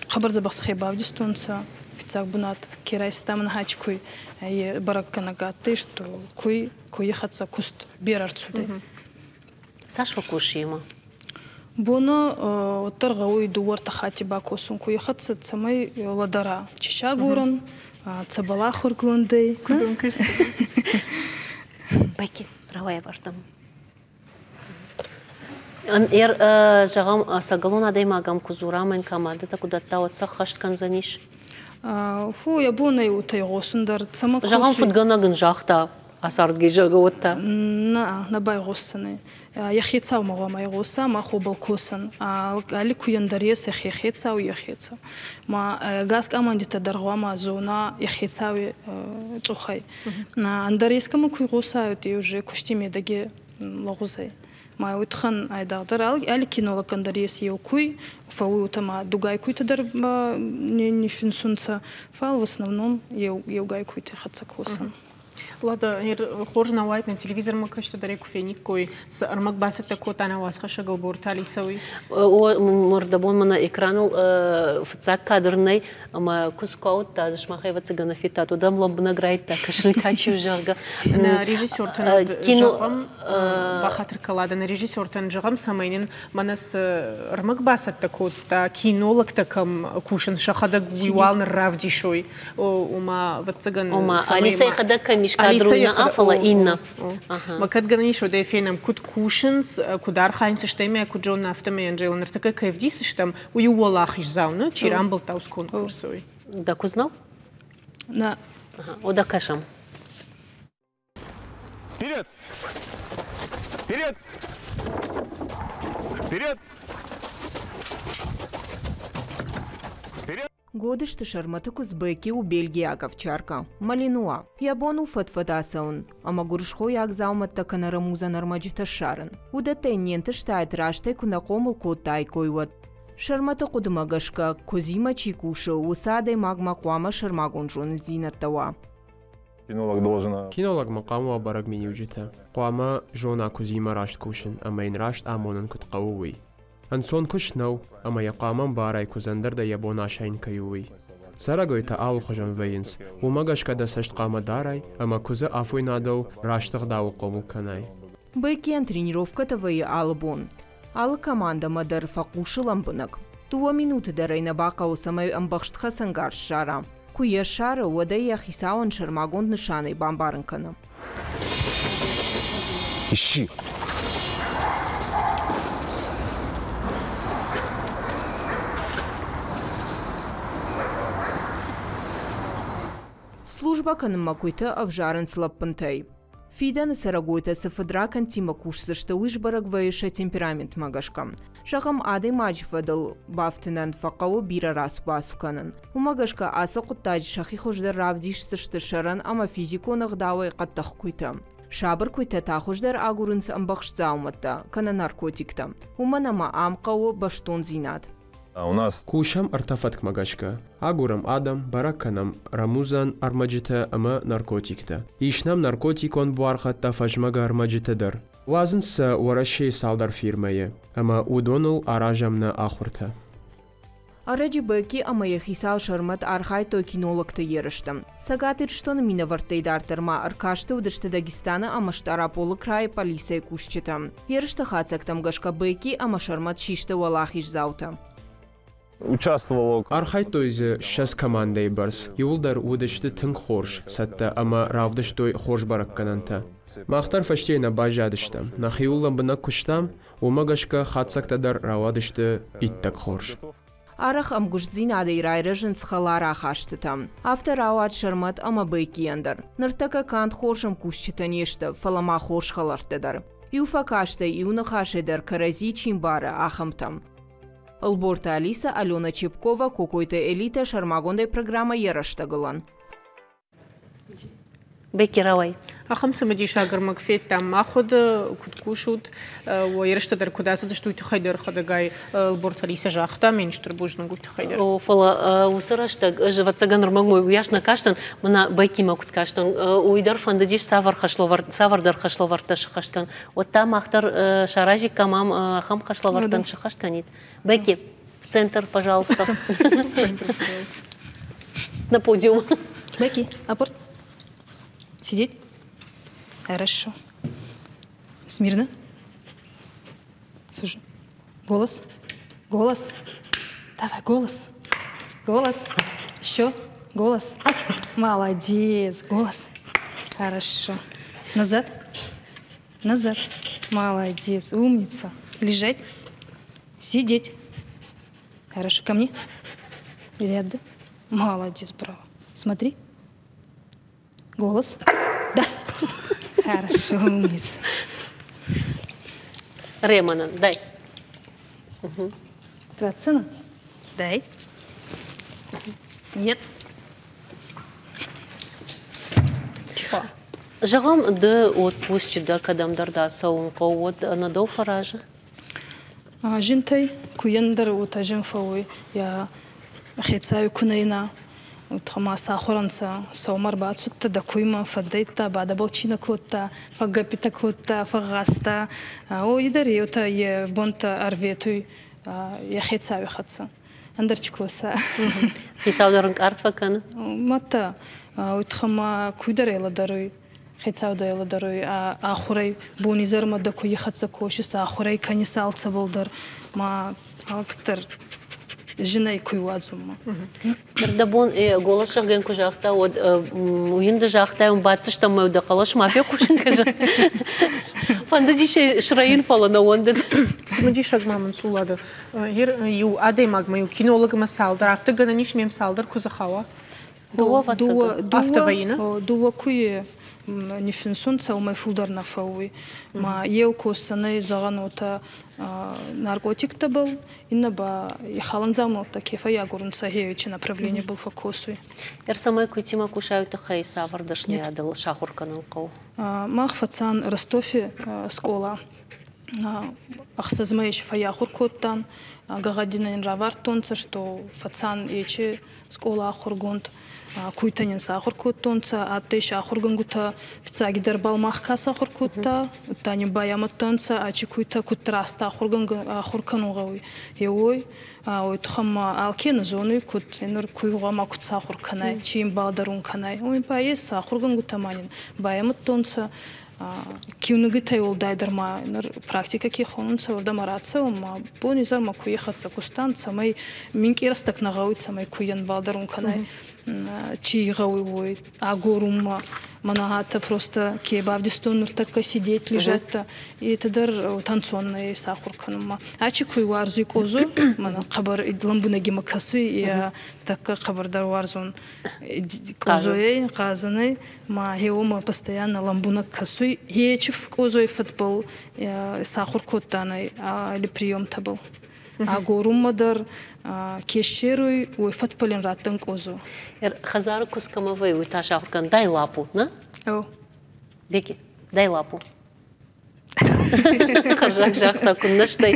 хъӕбӕр дзӕбӕх сӕхе бавдистонцӕ. Фиццаг бунат ке райста мӕн куй е бӕрӕггӕнӕг адтӕй, что куй куйи хӕццӕ куст берӕ ӕрцудӕй. Цас фӕкусы имӕ? Боны уӕддӕр гъӕуй дууӕ-ӕртӕ хатти бакосун куйи хӕццӕ, цӕмӕй лӕдӕра чи сӕ агорӕн, цӕбӕл ахургондӕй. Куд ӕнкъарст? Бекки, рауайӕ бардӕм. Зӕгъӕм, ӕцӕгӕлон адӕймагӕн куы дзурӕм, командӕтӕ куы дӕтта, уӕд сӕ ӕххӕст кӕндзӕнис? Фу, йӕ бон ӕй уотӕ игъосун дӕр. Цӕмӕ Зӕгъӕм, фыдгӕнӕг ын загъта, ацардги, зӕгъгӕ, уӕд та? Нӕ, нӕ байгъосдзӕнӕй. Йӕ хецаумӕ гъуамӕ игъоса, мах уобӕл косӕн. Алли куйӕн дӕр ес ӕхе хецау, йӕ хецау. Ма ӕгас командитӕ дӕр гъуамӕ зона йӕ хецауи цъухӕй. Ӕндӕр ескӕмӕ ку игъосай, уӕд уже кусти медӕги лӕгъуз ӕй. Ма уый туххӕн айдагъдӕр алли кинологӕн дӕр ес еу куй, фӕууй уотӕ ма дугай куйтӕ дӕр не ниффинсунцӕ, фал в основном еугай куйти хӕццӕ косӕн. Лада, хорз нӕ уаид, нӕ телевизормӕ кӕсты дӕр куы фениккой, цы ӕрмӕг бацӕттӕ кодта нӕ уацхӕссӕг Ӕлборты Алисӕ, уый? Мордабон мӕнӕ экраныл фыццаг кадр нӕй, ӕмӕ куыдз куы ауыдта, сымах ӕвӕццӕгӕн федтат, уӕд ӕм лӕмбынӕг райдыдта кӕсын, та чи у, зӕгъгӕ. Нӕ режиссертӕн зӕгъӕм, бахатыр кӕлада, нӕ режиссертӕн зӕгъӕм, цӕмӕй нын мӕнӕ цы ӕрмӕг бацӕттӕ кодта, кинологтӕ кӕм кусынц, сӕхӕдӕг уый уал ныр равдисой. Ома, ӕвӕццӕгӕн... Ома, Алисӕ йӕхӕдӕг кӕм ис кадры, уый нӕ, фӕлӕ иннӕ. Ма кӕд гӕнӕн ис, уӕд ӕй фенӕм, куыд кусынц, куыд архайынц, стӕй мӕ куыд зонын, афтӕмӕй Анжела ныртӕккӕ кӕй ӕвдисдзыстӕм, уый у уӕлахиздзау, нӕ? Чи рамбылдта уыцы конкурсы, уый. Дӕ куыдз нӕу? Нӕ. Ода кӕсӕм. Вперед! Вперед! Вперед! Вперед! Годызты Сӕрмӕты куыдз Бекки у бельгиаг овчаркӕ, малинуа. Йӕ бон у фӕд-фӕд ацӕуын ӕмӕ гуырысхойаг дзаумӕттӕ кӕнӕ рӕмудзӕн ӕрмӕджытӕ ссарын. Уыдӕттӕ йын не нтыстаид, растӕй куы нӕ хъомыл кодтаиккой, уӕд. Сӕрмӕты хъуыдымӕ гӕсгӕ, куыдзимӕ чи кусы, уыцы адӕймагмӕ хъуамӕ сӕрмагонд зонындзинӕдтӕ уа. Кинолог должен... Кинологмӕ хъуамӕ уа бӕрӕг миниуджытӕ. Хъуамӕ зона куыдзимӕ раст кусын ӕмӕ йын раст амонын куыд хъӕуы, уый. Ӕнцон куыст нӕу, ӕмӕ йӕ хъуамӕ ӕмбарай, куыдзӕн дӕр дӕ йӕ бон асайын кӕй у, уый. Цӕрӕгойтӕ алыхуызон вӕййынц, уымӕ гӕсгӕ дӕ цӕст хъуамӕ дарай ӕмӕ куыдзы афойнадыл раст ӕгъдауыл хъомыл кӕнай. Беккийӕн тренировкӕтӕ вӕййы алы бон. Алы командӕмӕ дӕр фӕхъусы лӕмбынӕг. Дыууӕ минуты дӕр ӕй нӕ бахъӕуы, цӕмӕй ӕмбӕхст хӕцӕнгарз ссара. Куы йӕ ссары, уӕд ӕй йӕ хицауӕн сӕрмагонд нысанӕй бамбарын кӕны. Ищи. Службӕ кӕнынмӕ куыйтӕ ӕвзарынц лӕппынтӕй. Фидӕны цӕрӕгойтӕ цы фыдракӕндтимӕ кусдзысты, уый сбӕрӕг вӕййы сӕ темпераментмӕ гӕсгӕ. Зӕгъӕм, адӕймаджы фӕдыл бафтынӕн фӕхъӕуы бирӕ рацу-бацу кӕнын. Уымӕ гӕсгӕ ацы хъуыддаджы сӕхи хуыздӕр равдисдзысты сӕрӕн ӕмӕ физикон ӕгъдауӕй хъӕддых куыйтӕ. Сабыр куыйтӕ та хуыздӕр агурынц ӕмбӕхст дзаумӕттӕ кӕнӕ наркотиктӕ, уымӕн ӕмӕ ам хъӕуы бӕстондзинад. У нас Кусӕм ӕртӕ фӕткмӕ гӕсгӕ. Агурӕм адӕм, бӕрӕг кӕнӕм рӕмудзӕн ӕрмӕджытӕ ӕмӕ наркотиктӕ. Ис нӕм наркотикон буаргъӕдтӕ фӕзмӕгӕ ӕрмӕджытӕ дӕр. Уадзынц сӕ Уӕрӕсейы цалдӕр фирмӕйы, ӕмӕ уыдоныл аразӕм нӕ ахуыртӕ. Ӕрӕджы Бекки ӕмӕ йӕ хицау Сӕрмӕт архайдтой кинологты ерысты. Цӕгат Ирыстоны минӕвӕрттӕй дарддӕр ма ӕркасты уыдысты Дагестаны ӕмӕ Стъараполы крайы полицӕйы кусджытӕ. Ерысты хатдзӕгтӕм гӕсгӕ Бекки ӕмӕ Сӕрмӕт систы уӕлахиздзаутӕ. Участвовал. Архайдтой дзы 20 командӕйы бӕрц. Иууылдӕр уыдысты тынг хорз цӕттӕ ӕмӕ равдыстой хорз бӕрӕггӕнӕнтӕ. Мах дӕр фӕстейы нӕ баззадыстӕм. Нӕхиуыл лӕмбынӕг куыстам, уымӕ гӕсгӕ хатдзӕгтӕ дӕр рауадысты иттӕг хорз. Арӕх ӕмгуыстдзинадӕй райрӕзынц хӕлар ахастытӕ. Афтӕ рауад Сӕрмӕт ӕмӕ Беккийӕн дӕр. Ныртӕккӕ канд хорз ӕмкусджытӕ не сты, фӕлӕ ма хорз хӕлӕрттӕ дӕр. Иу фӕкастӕй, иу ныхасӕй дӕр кӕрӕдзи чи мбары, ахӕмтӕ. Ӕлборты Алиса, Алена Чепкова, Кокойты Элита, сӕрмагондӕй программӕ Йӕ рӕстӕгылӕн. Бекки, рауай. Ахӕм цымыдисаг ӕрмӕг федтам. Мах уӕд куыд кусут, уӕ ерыстӕ дӕр куыд ацыдысты, уый тыххӕй дӕр хӕдӕгай Ӕлборты Алиса загъта, ме стыр бузныг уый тыххӕй дӕр. О, фӕлӕ уыцы рӕстӕг ӕз, ӕвӕццӕгӕн, ӕрмӕг уыйас нӕ кастӕн, мӕнӕ Беккимӕ куыд кастӕн, уый дӕр фӕндыдис цавӕр хӕслӕвӕрд, цавӕрдӕр хӕслӕвӕрдтӕ сыххӕст кӕнын. Уӕд та мах дӕр саразиккам ам ахӕм хӕслӕвӕрдтӕн сыххӕст кӕнид. Бекки, в центр, пожалуйста. На подиум. Бекки, апорт. Сидеть. Хорошо. Смирно. Слушай. Голос. Голос. Давай, голос. Голос. Еще. Голос. Молодец. Голос. Хорошо. Назад. Назад. Молодец. Умница. Лежать. Сидеть. Хорошо. Ко мне. Ряд, да? Молодец, браво. Смотри. Голос. Да. Хорошо, умница. Ремана, дай. Твоя Дай. Нет. Тихо. Зӕгъӕм, ды отпусчы дӕ кӕдӕмдӕр дӕ цӕуын хъӕуы, уӕд ӕнӕ дӕу фӕразы? Зинтӕй куйӕн дӕр уотӕ зин фӕууй, йӕ хецауи ку нӕ ина, ма сахур ӕнцӕ. Сӕумӕ ӕрбацудтӕ дӕ куймӕ, фӕддӕйдта, бадӕбӕл чи нӕ кодта, фӕггӕппитӕ кодта, фӕгъгъазта. О, дӕр еутӕ е бонтӕ ӕрветуй йӕ хецауи хӕццӕ. Ӕндӕр чи коса. Хицау дӕр ӕнкъард фӕкӕны? Мадта, уой туххӕй ма куй дӕр ӕлӕдӕруй, хецау дӕ ӕлӕдӕруй, ахурӕй бонизӕрмӕ дӕ куйи хӕццӕ косис, ахурӕй кӕнис алцӕбӕл дӕр, ма алкӕддӕр зинӕй куй уадзунмӕ. Ныр дӕ бон голос зӕгъгӕ куы загъта, уӕд уый ды загътай, уым баддзыстӕм мӕ дӕ хъӕлӕс ма фехъусын кӕ. Фӕндыдис срӕйын, фӕлӕ нӕ уӕндыд. Цымыдисаг ма мын Сулады. Иу адӕймагмӕ, иу кинологмӕ цалдӕр, афтӕ гӕнӕн ис мем цалдӕр куы дзы хауа? Дууӕ, дууӕ куйи ниффинсунцӕ, уомӕй фулдӕр нӕ фӕууй. Ма еу косдзӕнӕй, зӕгъӕн, уотӕ наркотиктӕбӕл, иннӕ ба ихалӕндзаумӕуттӕ ке фӕййагорунцӕ, хеуичи направленибӕл фӕккосуй. Ӕрцӕмӕй куйтимӕ кусай, тыххӕй цавӕр дӕсныйадыл сахуыр кӕнын хъӕуы? Мах фӕцан Ростове скъола. Ӕхсӕз мӕйи фӕййахур кодтан. Гӕгъӕдинӕ ин равардтонцӕ, что фӕцан ечи скъола ахургонд. Куйтӕ нин сахур кодтонцӕ, адтӕй сӕ ахургӕнгутӕ. Фиццагидӕр бал мах ка сахур кодта, удта нин байамудтонцӕ, ачи куйтӕ куд раст ахур кӕнун гъӕуй, е уой. Уой туххӕн ма алке нӕ зонуй, куд нур куй гъӕуама куд сахур кӕнай, чи ин балӕдӕрун кӕнай. Уой ба ес ахургӕнгутӕ ма нин байамудтонцӕ. Киунугитӕй уӕлдайдӕр ма нур практикӕ ке хонунцӕ, уордӕмӕ рацӕуӕн ма бон-изӕрмӕ куйи хӕццӕ кустан, цӕмӕй минкъий рӕстӕг нӕ гъӕуй, цӕмӕй куййӕн балӕдӕрун кӕнай, чи гъӕуй, уой агорунмӕ. Мӕнӕ гьатӕ просто ке бавдистон нуртӕккӕ сидеть, лежать-то, это дӕр танцоннӕй сахур кӕнунмӕ. Ачи куй уарзуй къозу, мӕнӕ хъӕбӕр лӕмбунӕг имӕ кӕсуй, е тӕккӕ хъӕбӕрдӕр уарзун къозойӕй, гъазӕнӕй. Ма гьеуомӕ постоянно лӕмбунӕг кӕсуй. Гьечи къозой фӕдбӕл сахур кодтанӕй али приемтӕбӕл. Агорунмӕ дӕр ке ссеруй, уой фӕдбӕл ин раттӕн къозо. Хӕдзары куыдз кӕмӕ вӕййы, уый та сахуыр кӕн. Дай лапу, нӕ? О. Беки, дай лапу. Хӕрзаг загъта, куыннӕ стӕй.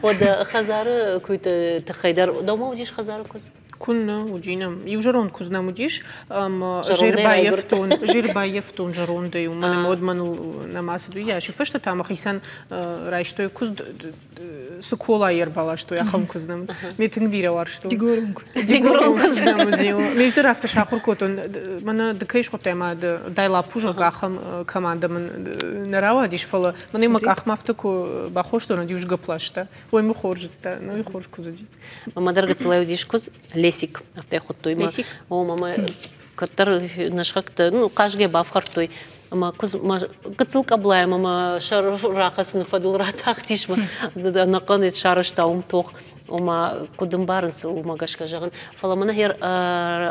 Уӕдӕ хӕдзары куыйты тыххӕй дӕр дӕумӕ уыдис хӕдзары куыдз? Куыннӕ уыди нӕм. Иу зӕронд куыдз нӕм уыдис, ӕмӕ же рбаййӕфтон зӕрондӕй, уымӕн ӕмӕ уӕд мӕныл нӕма цыд уыйас. Уый фӕстӕ та мӕхицӕн райстой куыдз, цы колайы ӕрбаластой, ахӕм куыдз нӕм. Ме тынг бирӕ уарзтон. Дигорон куыдз. Дигорон куыдз нӕм уыди. Ме дӕр афтӕ сахуыр кодтон. Мӕнӕ ды кӕй схуыдтай ӕмӕ дай лапу, зӕгъгӕ, ахӕм командӕ мын нӕ рауадис, фӕлӕ мӕнӕ мӕ къахмӕ афтӕ куы бахостон, уӕд иу сгӕпп ласта. Ой, мӕ хорз зыдта, ну и хорз куыдз уыди. Мӕ дӕр гыццылӕй уыдис куыдз, Лесик, афтӕ хуыдтой мӕ. Лесик? О, мӕ кӕддӕр нӕ сыхӕгтӕ, ну, хъазгӕ бафхӕрдтой. Ӕмӕ куыдз мӕ гыццыл къӕблайӕ мӕ мӕ сӕр рахӕцыны фӕдыл ратахтис, мӕ ӕнӕхъӕн сарӕзта уым тох. Ома, куыд ӕмбарынц, уымӕ гӕсгӕ зӕгъын. Фӕлӕ мӕнӕ хер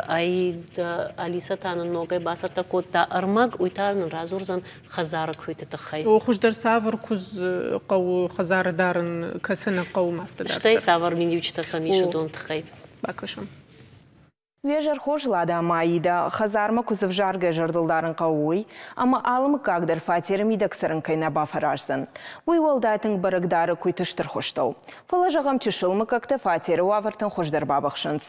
Аид Алиса та нын ногӕй бацӕттӕ кодта ӕрмӕг, уый та нын радзурдзӕн хӕдзары куыйты тыххӕй. О, хуыздӕр цавӕр куыдз хъӕуы хӕдзары дарын, кӕцы нӕ хъӕуы афтӕ дарддӕр? Стӕй цавӕр миниуджытӕ сӕм ис уыдон тыххӕй? Бакӕсӕм. Уе зӕр хорз, Лада ӕмӕ Аидӕ, хӕдзармӕ куыдз ӕвзаргӕ зӕрдыл дарын хъӕуы уый, ӕмӕ алы мыггаг дӕр фатеры мидӕг цӕрын кӕй нӕ бафӕраздзӕн. Уый уӕлдай тынг бӕрӕг дары куыйты стыр хуызтыл. Фӕлӕ, зӕгъӕм, чысыл мыггӕгтӕ фатеры уавӕртӕн хуыздӕр бабыхсынц.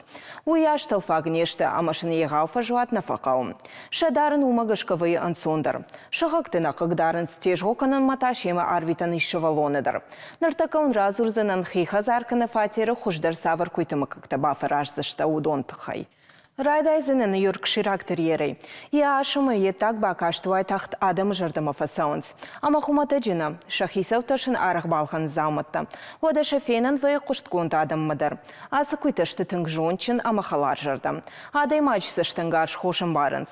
Уыйас тӕлфаг не сты ӕмӕ сын егъау фӕзуат нӕ фӕхъӕуы. Сӕ дарын уымӕ гӕсгӕ вӕййы ӕнцондӕр. Сыхӕгты нӕ хъыгдарынц, тезгъо кӕнынмӕ та семӕ арвитӕн ис сывӕллоны дӕр. Ныртӕккӕ уын радзурдзынӕн, хи хӕдзар кӕнӕ фатеры хуыздӕр цавӕр куыйты мыггӕгтӕ бафӕраздзысты, уыдон тыххӕй. Райдайдзынӕн йоркшираг терьерӕй. Йӕ ас ӕмӕ йе ддаг бакаст уайтагъд адӕмы зӕрдӕмӕ фӕцӕуынц. Ӕмӕ хуымӕтӕджы нӕ, сӕ хицӕуттӕ сын арӕх балхӕнынц дзаумӕттӕ. Уӕдӕ сӕ фенӕн вӕййы хъуыстгонд адӕммӕ дӕр. Ацы куыйтӕ сты тынг зондджын ӕмӕ хӕларзӕрдӕ. Адӕймаджы цӕстӕнгас хорз ӕмбарынц.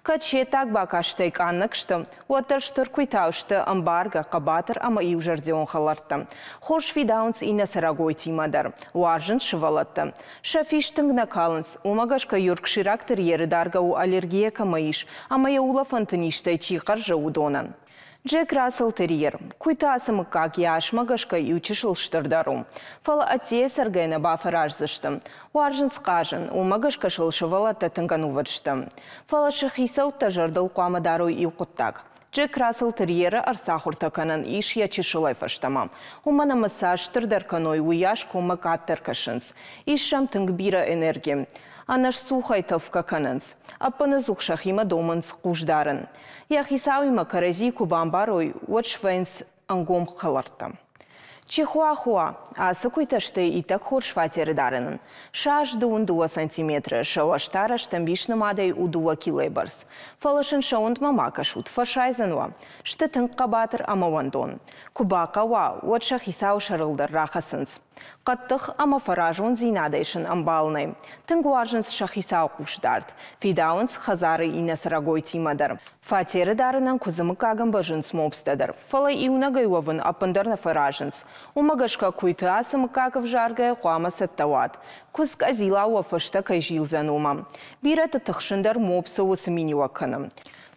Кӕд се ддаг бакастӕй къаннӕг сты, уӕддӕр стыр куыйтау сты ӕмбаргӕ, хъӕбатыр ӕмӕ иузӕрдион хӕлӕрттӕ. Хорз фидауынц иннӕ цӕрӕгойтимӕ дӕр, уарзынц сывӕллӕтты. Сӕ фист тынг нӕ калынц, уымӕ гӕсгӕ йоркшираг терьеры даргӕ у аллергийӕ кӕмӕ ис ӕмӕ йӕ улӕфӕнты низтӕй чи хъӕрзы, уыдонӕн. Джек Рассел Терьер. Куыйты ацы мыггаг йӕ асмӕ гӕсгӕ иу чысыл стырдӕр у. Фӕлӕ ӕддейӕ цӕргӕ нӕ бафӕраздзысты. Уарзынц хъазын, уымӕ гӕсгӕ сыл сывӕллӕттӕ тынг ӕнувыд сты. Фӕлӕ сӕ хицӕуттӕ зӕрдыл хъуамӕ дарой иу хъуыддаг. Джек Рассел Терьеры ӕрцахуыртӕ кӕнӕн ис йӕ чысылӕй фӕстӕмӕ. Уымӕн ӕмӕ цас стырдӕр кӕной, уыйас коммӕ къаддӕр кӕсынц. Ис сӕм тынг бирӕ энерги. Ӕнӕсцухӕй тӕлфгӕ кӕнынц. Ӕппынӕдзух сӕхимӕ домынц хъусдарын. Йӕ хицауимӕ кӕрӕдзи куы бамбарой, уӕд свӕййынц ӕнгом хӕлӕрттӕ. Чихуахуа, ацы куыйтӕ сты иттӕг хорз фатеры дарынӕн. Сӕ ас 22 сантиметры, сӕ уӕз та рӕстӕмбис нымадӕй у 2 килойы бӕрц. Фӕлӕ сын сӕ уындмӕ ма кӕсут, фӕсайдзӕн уӕ. Сты тынг хъӕбатыр ӕмӕ уӕндон. Куы бахъӕуа, уӕд сӕ хицауы сӕрыл дӕр рахӕцынц. Хъӕддых ӕмӕ фӕразондзинадӕй сын ӕмбал нӕй. Тынг уарзынц сӕ хицауы хъусдард. Фидауынц хӕдзары иннӕ цӕрӕгойтимӕ дӕр. Фатеры дарынӕн куыдзы мыггаг ӕмбӕрзынц мопстӕ дӕр, фӕлӕ иунӕгӕй уӕвын ӕппындӕр нӕ фӕразынц. Уымӕ гӕсгӕ куыйты ацы мыггаг ӕвзаргӕйӕ хъуамӕ цӕттӕ уат, куыдз къӕдзилау уӕ фӕстӕ кӕй зилдзӕн, уымӕ. Бирӕты тыхсын дӕр мопсы уыцы миниуӕг кӕны.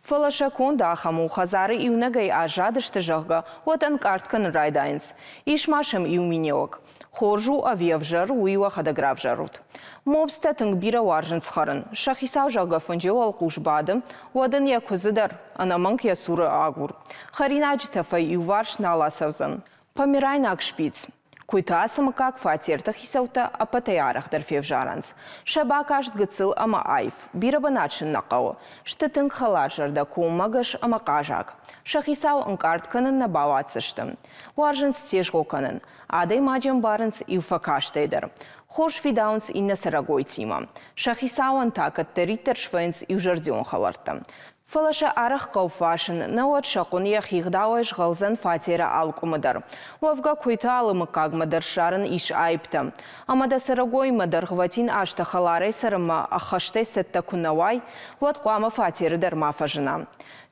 Фӕлӕ сӕ конд ахӕм у, хӕдзары иунӕгӕй аззадысты, зӕгъгӕ, уӕд ӕнкъард кӕнын райдайынц. Ис ма сӕм иу миниуӕг. Хорз у ӕви ӕвзӕр, уый уӕхӕдӕг равзарут. Мопстӕ тынг бирӕ уарзынц хӕрын. Сӕ хицау, зӕгъгӕ, фынджы уӕлхъус бады, уӕд ын йӕ куыдзы дӕр ӕнӕмӕнг йӕ цуры агур. Хӕринаджы тӕфӕй иуварс нал ацӕудзӕн. Померайнаг шпиц. Куыйты ацы мыггаг фатерты хицӕуттӕ ӕппӕтӕй арӕхдӕр февзарынц. Сӕ бакаст гыццыл ӕмӕ аив, бирӕ бынат сын нӕ хъӕуы. Сты тынг хӕларзӕрдӕ, коммӕгӕс ӕмӕ хъазаг. Сӕ хицау ӕнкъард кӕнын нӕ бауадздзысты. Уарзынц тезгъо кӕнын. Адӕймаджы ӕмбарынц иу фӕкастӕй дӕр. Хорз фидауынц иннӕ цӕрӕгойтимӕ. Сӕ хицауӕн та кӕддӕриддӕр свӕййынц иузӕрдион хӕлӕрттӕ. Фӕлӕ сӕ арӕх хъӕуы фасын, науӕд сӕ хъуын йӕхи гъдауӕй згъӕлдзӕн фатеры алы къуымы дӕр. Уӕвгӕ куыйты алы мыггагмӕ дӕр ссарын ис аиптӕ. Ӕмӕ дӕ цӕрӕгоимӕ дӕргъвӕтин азтӕ хӕларӕй цӕрынмӕ ӕххӕстӕй цӕттӕ куы нӕ уай, уӕд хъуамӕ фатеры дӕр ма фӕзына.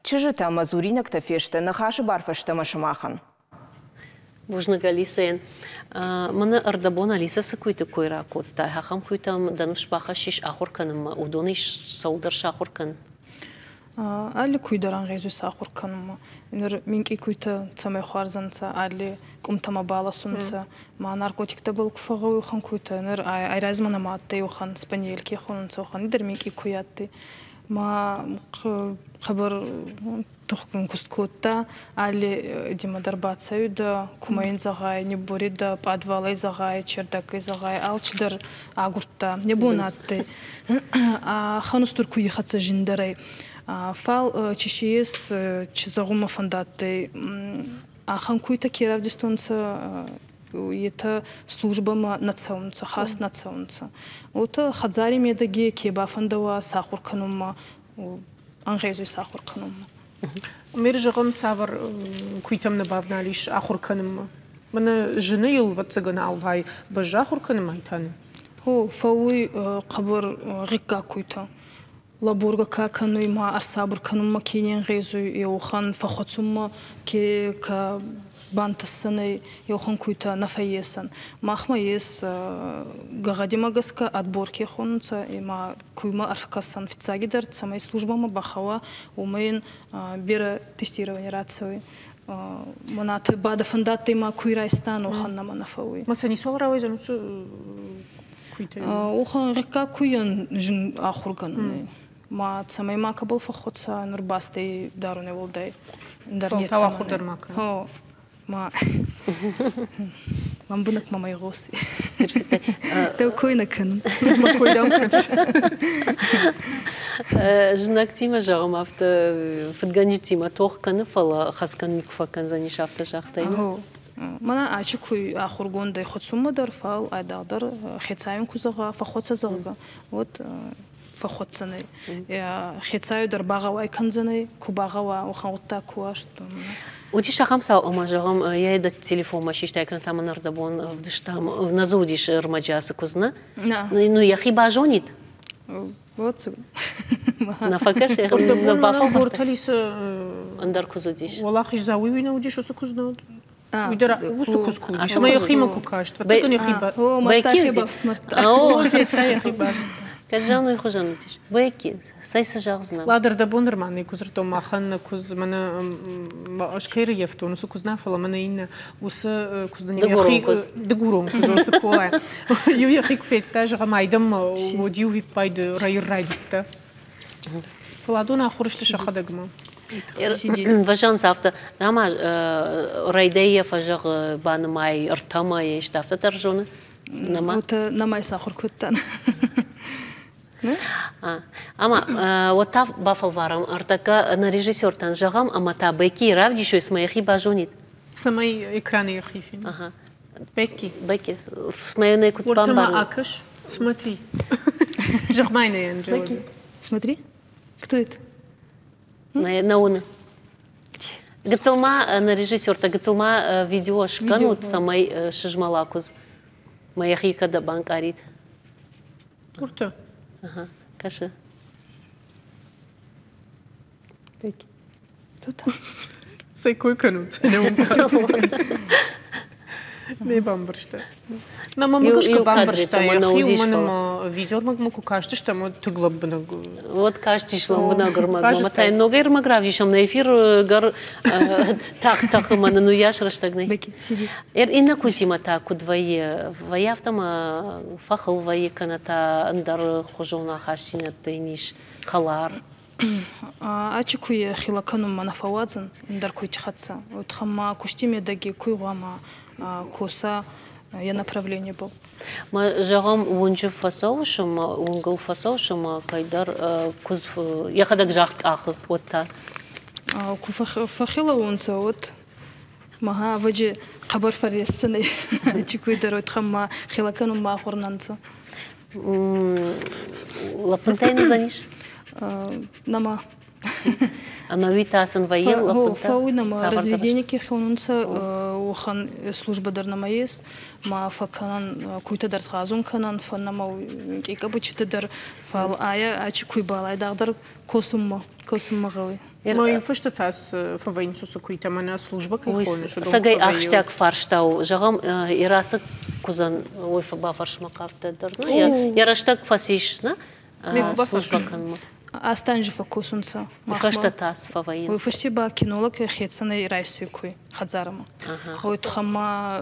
Чызджытӕ ӕмӕ дзуринӕгтӕ фесты ныхасы бар фӕстӕмӕ сымахӕн. Бузныг Алисӕйӕн. Мӕнӕ ӕрдӕбон Алисӕ цы куыйты кой ракодта, ахӕм куыйтӕм дӕ ныфс бахӕссис ахуыр кӕнынмӕ, уыдонӕй цӕуылдӕр сахуыр кӕн. Алли куй дӕр ӕнгъезуй сахур кӕнунмӕ. Нур минкъий куйтӕ цӕмӕй хуӕрзӕнцӕ, алли къумтӕмӕ баласунцӕ, ма наркотиктӕбӕл ку фӕгъгъӕуй уӕхӕн куйтӕ. Нур айразмӕ нӕма адтӕй уӕхӕн спаниель ке хонунцӕ, уӕхӕн дӕр минкъий куй адтӕй. Ма хъӕбӕр тухгун куст кодта, алли димӕ дӕр бацӕуидӕ, кумӕ ин зӕгъай, нибборидӕ, пъадвалӕй зӕгъай, чердаккӕй зӕгъай, алчидӕр агурдта. Не бон адтӕй. Хан устур куйи хӕццӕ зиндӕрӕй. Фал чи си ес, чи зӕгъунмӕ фӕндадтӕй, ахӕм куйтӕ ке равдистонцӕ, етӕ службӕмӕ нӕ цӕунцӕ, хаст нӕ цӕунцӕ. Уотӕ хӕдзари медӕги ке бафӕндӕуа сахур кӕнунмӕ, ӕнгъезуй сахур кӕнунмӕ. Мер зӕгъӕм, цавӕр куыйтӕм нӕ бавналис ахуыр кӕнынмӕ? Мӕнӕ зыны йыл, ӕвӕццӕгӕн, алгъай бӕззы ахуыр кӕнынмӕ айтаны? О, фӕууй хъӕбӕр гъиггаг куйтӕ. Лӕборгӕ ка кӕнуй ма ӕрсабур кӕнунмӕ ке не нгъезуй, еуӕхӕн фӕххуӕцунмӕ ке ка бантӕссӕнӕй, еуӕхӕн куйтӕ нӕ фӕййесӕн. Махмӕ ес гӕгъӕдимӕ гӕсгӕ отбор ке хонунцӕ, ӕма куймӕ ӕркӕсӕн фиццагидӕр, цӕмӕй службӕмӕ бахауа, уомӕй ин берӕ тестирование рацӕуй. Монатӕ ба дӕ фӕндадтӕй ма куй райстан, уӕхӕн нӕмӕ нӕ фӕууй. Ма сӕ ницуал рауайдзӕн уыцы куйтӕй? Уӕхӕн рекка куйӕн зын ахургӕнӕн. Ма цӕмӕй макӕбӕл фӕххуӕца, нур бастӕй дарунӕй уӕлдай ӕндӕр нецӕмӕн. Ахур дӕр ма кӕн. Ма Лӕмбынӕг мӕм айгъос. Дӕу кой нӕ кӕнын. Мӕ кой дӕм кӕныс. Знӕгтимӕ, зӕгъӕм, афтӕ фыдгӕнджытимӕ тох кӕны, фӕлӕ хӕцгӕ никуы фӕкӕндзӕнис, афтӕ загътай. Мӕнӕ ачи куй ахургондӕй хуӕцунмӕ дӕр, фал айдагъдӕр хецауин ку зӕгъа, фӕххуӕцӕ зӕгъгӕ, уӕд фӕххуӕцдзӕнӕй. Хецауи дӕр багъӕуай кӕндзӕнӕй, ку багъӕуа, уӕхӕн гъуддаг ку уа. Уыдис ахӕм цау, ӕмӕ, зӕгъӕм, йӕ дӕ телефонмӕ систай кӕнӕ та мын ӕрдӕбон ӕвдыстам, нӕ дзы уыдис ӕрмӕджы ацы куыдз, нӕ? Ну, йӕхи базонид. Вот. Нӕ фӕкӕсы, нӕ бафӕлвӕрдта. Ӕндӕр куыдз уыдис. Уӕлахиздзау уый нӕ уыдис, уыцы куыдз нӕ уыд? Уый дӕр уыцы куыдз куы уыдис, ӕмӕ йӕхимӕ куы каст, фӕццӕгӕн йӕхи ба. О, мадта хи бафсмардта. О, йӕхи ба. Кӕд зӕгъын уый хуызӕн уыдис. Бекки, цӕй цы зӕгъдзынӕ? Ладыр дӕ бон нырма нӕ куы дзырдтон, махӕн нӕ куыдз мӕнӕ ӕз кӕй рыййӕфтон, уыцы куыдз нӕ, фӕлӕ мӕнӕ иннӕ уыцы куыдз дын Дыгурон куыдз. Дыгурон куыдз, уыцы кола. Иу йӕхи куы федта, зӕгъӕм, айдӕм уӕд-иу виппайды райыр райдыдта. Фӕлӕ адон ахуыр сты сӕхӕдӕгмӕ. Вӕзӕнц афтӕ, ӕмӕ райдаййӕ фӕзӕгъы, банымай ӕртӕмӕ, исты афтӕ дӕр зоны? Нӕма? Уотӕ нӕма исахур кодтан. Ӕма уӕд та бафӕлварӕм ӕртӕккӕ нӕ режиссертӕн зӕгъӕм, ӕмӕ та Беккийы равдисой, цымӕ йӕхи базонид. Цӕмӕй экраны йӕхи фена. Ага. Бекки. Бекки, цымӕ йын куыд бамбарын? акӕс, смотри. Зӕгъ-ма йын ӕй, Анжела. Бекки, смотри, кто это? Нӕ уыны. Гыццыл ма нӕ режиссертӕ гыццыл ма видео скӕнут, цӕмӕй сызмӕла куыдз. Мӕ йӕхи кӕд банкъарид. Урты. Ага, кӕсы. Тут. Цӕй кой кӕнут? Не бамбӕрста. Нӕ мӕ гӕсгӕ бамбӕрста йӕхи, уымӕн ӕмӕ видеоӕрмӕгмӕ куы кастыстӕм, уӕд тынг лӕмбынӕг. Уӕд кастис лӕмбынӕг ӕрмӕгмӕ. Мӕ та йын ногӕй ӕрмӕг равдисӕм, нӕ эфир гӕр тагъд тӕхы, мӕ нын уыйас рӕстӕг нӕй. Иннӕ куысимӕ та куыд вӕййы? Вӕййы афтӕ ӕмӕ фӕхыл вӕййы кӕнӕ та ӕндӕр хуызон ахастдзинӕдтӕ йын ис хӕлар? Ачи куй хилӕ кӕнунмӕ нӕ фӕууадзӕн ӕндӕр куйти хӕццӕ. Уотӕ ма кусти медӕги куй гъуама коса йӕ направлениебӕл. Ма зӕгъӕм, уынджы фӕцӕуыс ӕмӕ уынгыл фӕцӕуыс ӕмӕ кӕйдӕр куыдз йӕхӕдӕг загъд къахы, уӕд та? Ку фӕхилӕ уонцӕ, уӕд мага ӕвӕджи хъӕбӕр фӕрресдзӕнӕй. Ачи куй дӕр уотӕ ма хилӕ кӕнунмӕ ахур нӕ нцӕ. Лӕппынтӕ йын уыдзӕнис? Нӕма. Ӕнӕуи та сын вӕййы лӕппынтӕ? Фӕууй нӕма. Разведение ке хонунцӕ, уӕхӕн службӕ дӕр нӕма ес. Ма фӕккӕнӕн, куйтӕ дӕр сгъазун кӕнӕн, фӕннӕмӕ къикъабучитӕ дӕр. Фал айӕ ачи куйбӕл айдагъдӕр косунмӕ, косунмӕ гъӕуй. Ма фысты та фӕвӕййынц уыцы куыйтӕ, мӕнӕ службӕ кӕй хоныс, уыдон Цӕгӕй ахстиаг фарста у. Зӕгъӕм, Ирасы куыдзӕн уый бафӕрсмӕ хъавдтӕ дӕр. Йӕ рӕстӕг фӕцис, нӕ? Службӕ кӕнынмӕ. Астанжы фӕкосунцӕ. Фӕстӕ та цы фӕвӕййынц? Уый фӕсте ба кинолог хецӕнӕй райсуй куй хӕдзарӕмӕ. Уой туххӕн ма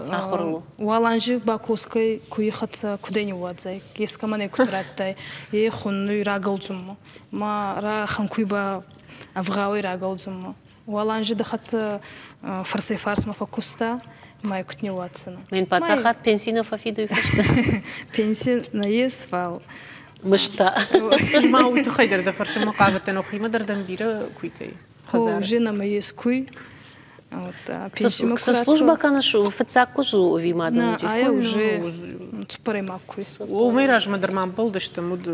уал анзи бакосгӕй куйи хӕццӕ кудӕй ниууадзай, ескӕмӕн ӕй куд радтай, е хуннуй рагӕлдзунмӕ. Ма рахӕнкуй ба ӕвгъауӕй рагӕлдзунмӕ. Уал анзи дӕ хӕццӕ фӕрсӕй-фарсмӕ фӕккуста, ма куд ниууадздзӕнӕ. Мин паддзахад пенси нӕ фӕфидуй фӕстӕ? Пенси нӕййес, фал мызта. Ӕз ма уый тыххӕй дӕр дӕ фӕрсынмӕ хъавыдтӕн, охимӕ дӕр дӕм бирӕ куыйтӕй хӕдзары. Уже нӕмӕ ес куй. Цы службӕ кӕныс, фыццаг куыдз у ӕви ма дын уыди? Ай уже цыппӕрӕймаг куыдз. Уымӕй размӕ дӕр ма ӕмбӕлдыстӕм, уыд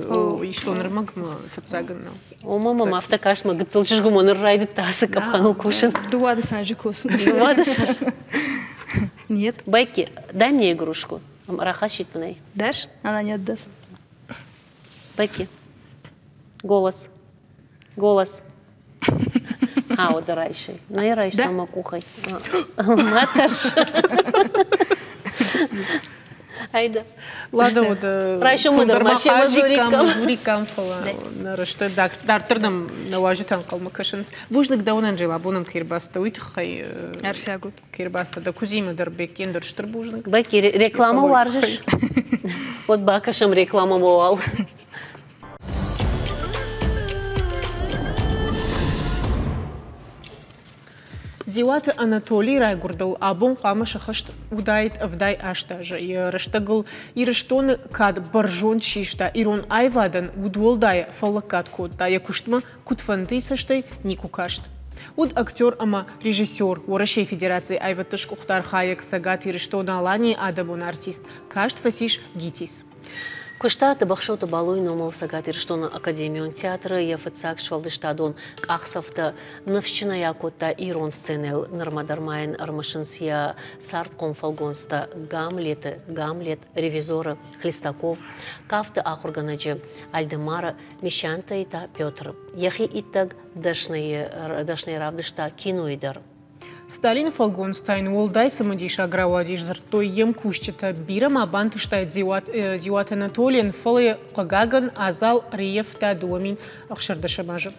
истон ӕрмӕгмӕ фыццаг ын нӕу. Ома мӕм афтӕ каст, мӕ гыццыл чызг уымӕ ныр райдыдта ацы къӕпхӕныл кусын. Дыууадӕс азы кусын. Дыууадӕс азы? Нет. Бекки, дай мне игрушку. Рахӕссит мын ӕй. Дашь? Она не отдаст. Бекки. Голос. Голос. Ауды райсай. Нӕ райсам мӕ къухӕй. Ма тӕрс. Айда. Лада уыд Райсомы дӕр ма семӕ дзуриккам. Дзуриккам, фӕлӕ нӕ рӕстӕг дарддӕр нӕм нӕ уазджытӕ ӕнхъӕлмӕ кӕсынц. Бузныг дӕуӕн, Анжела, абон ӕм кӕй ӕрбацыдтӕ, уый тыххӕй. Арфиаг ут. Кӕй ӕрбацыдтӕ дӕ куыдзимӕ дӕр, Беккен дӕр стыр бузныг. Бекки, рекламӕ уарзыс? Уӕд бакӕсӕм рекламӕмӕ уал. Дзиуаты Анатолийы райгуырдыл абон хъуамӕ сӕххӕст уыдаид 78 азы. Йӕ рӕстӕгыл Ирыстоны кад бӕрзонд систа, ирон аивадӕн удуӕлдай фӕллӕггад кодта, йӕ куыстмӕ куыдфӕндыйы цӕстӕй никуы каст. Уыд актер ӕмӕ режиссер, Уӕрӕсейы Федерацийы аивӕдты сгуыхт архайӕг Цӕгат Ирыстон-Аланийы адӕмон артист, каст фӕцис ГИТИС. Куыста Тӕбӕхсӕуты Балойы номыл Цӕгат Ирыстоны академион театры йӕ фыццаг сфӕлдыстадон къахдзӕфтӕ ныфсджынӕй акодта ирон сценӕйыл. Нырмӕ дӕр ма йын ӕрымысынц йӕ цардхъом фӕлгонцтӕ Гамлеты, Гамлет, Ревизоры, Хлестаков, кафты ахуыргӕнӕджы Альдемары, Мещантӕй та Петры. Йӕхи иттӕг дӕсныйы равдыста кинойы дӕр. Сталины фӕлгонц та йын уӕлдай цымыдисаг рауадис, дзырдтой йе мкусджытӕ. Бирӕ ма бантыстаид Дзиуаты Анатолийӕн, фӕлӕ йӕ, хъыгагӕн, адзал ӕрӕййӕфта 2016 азы.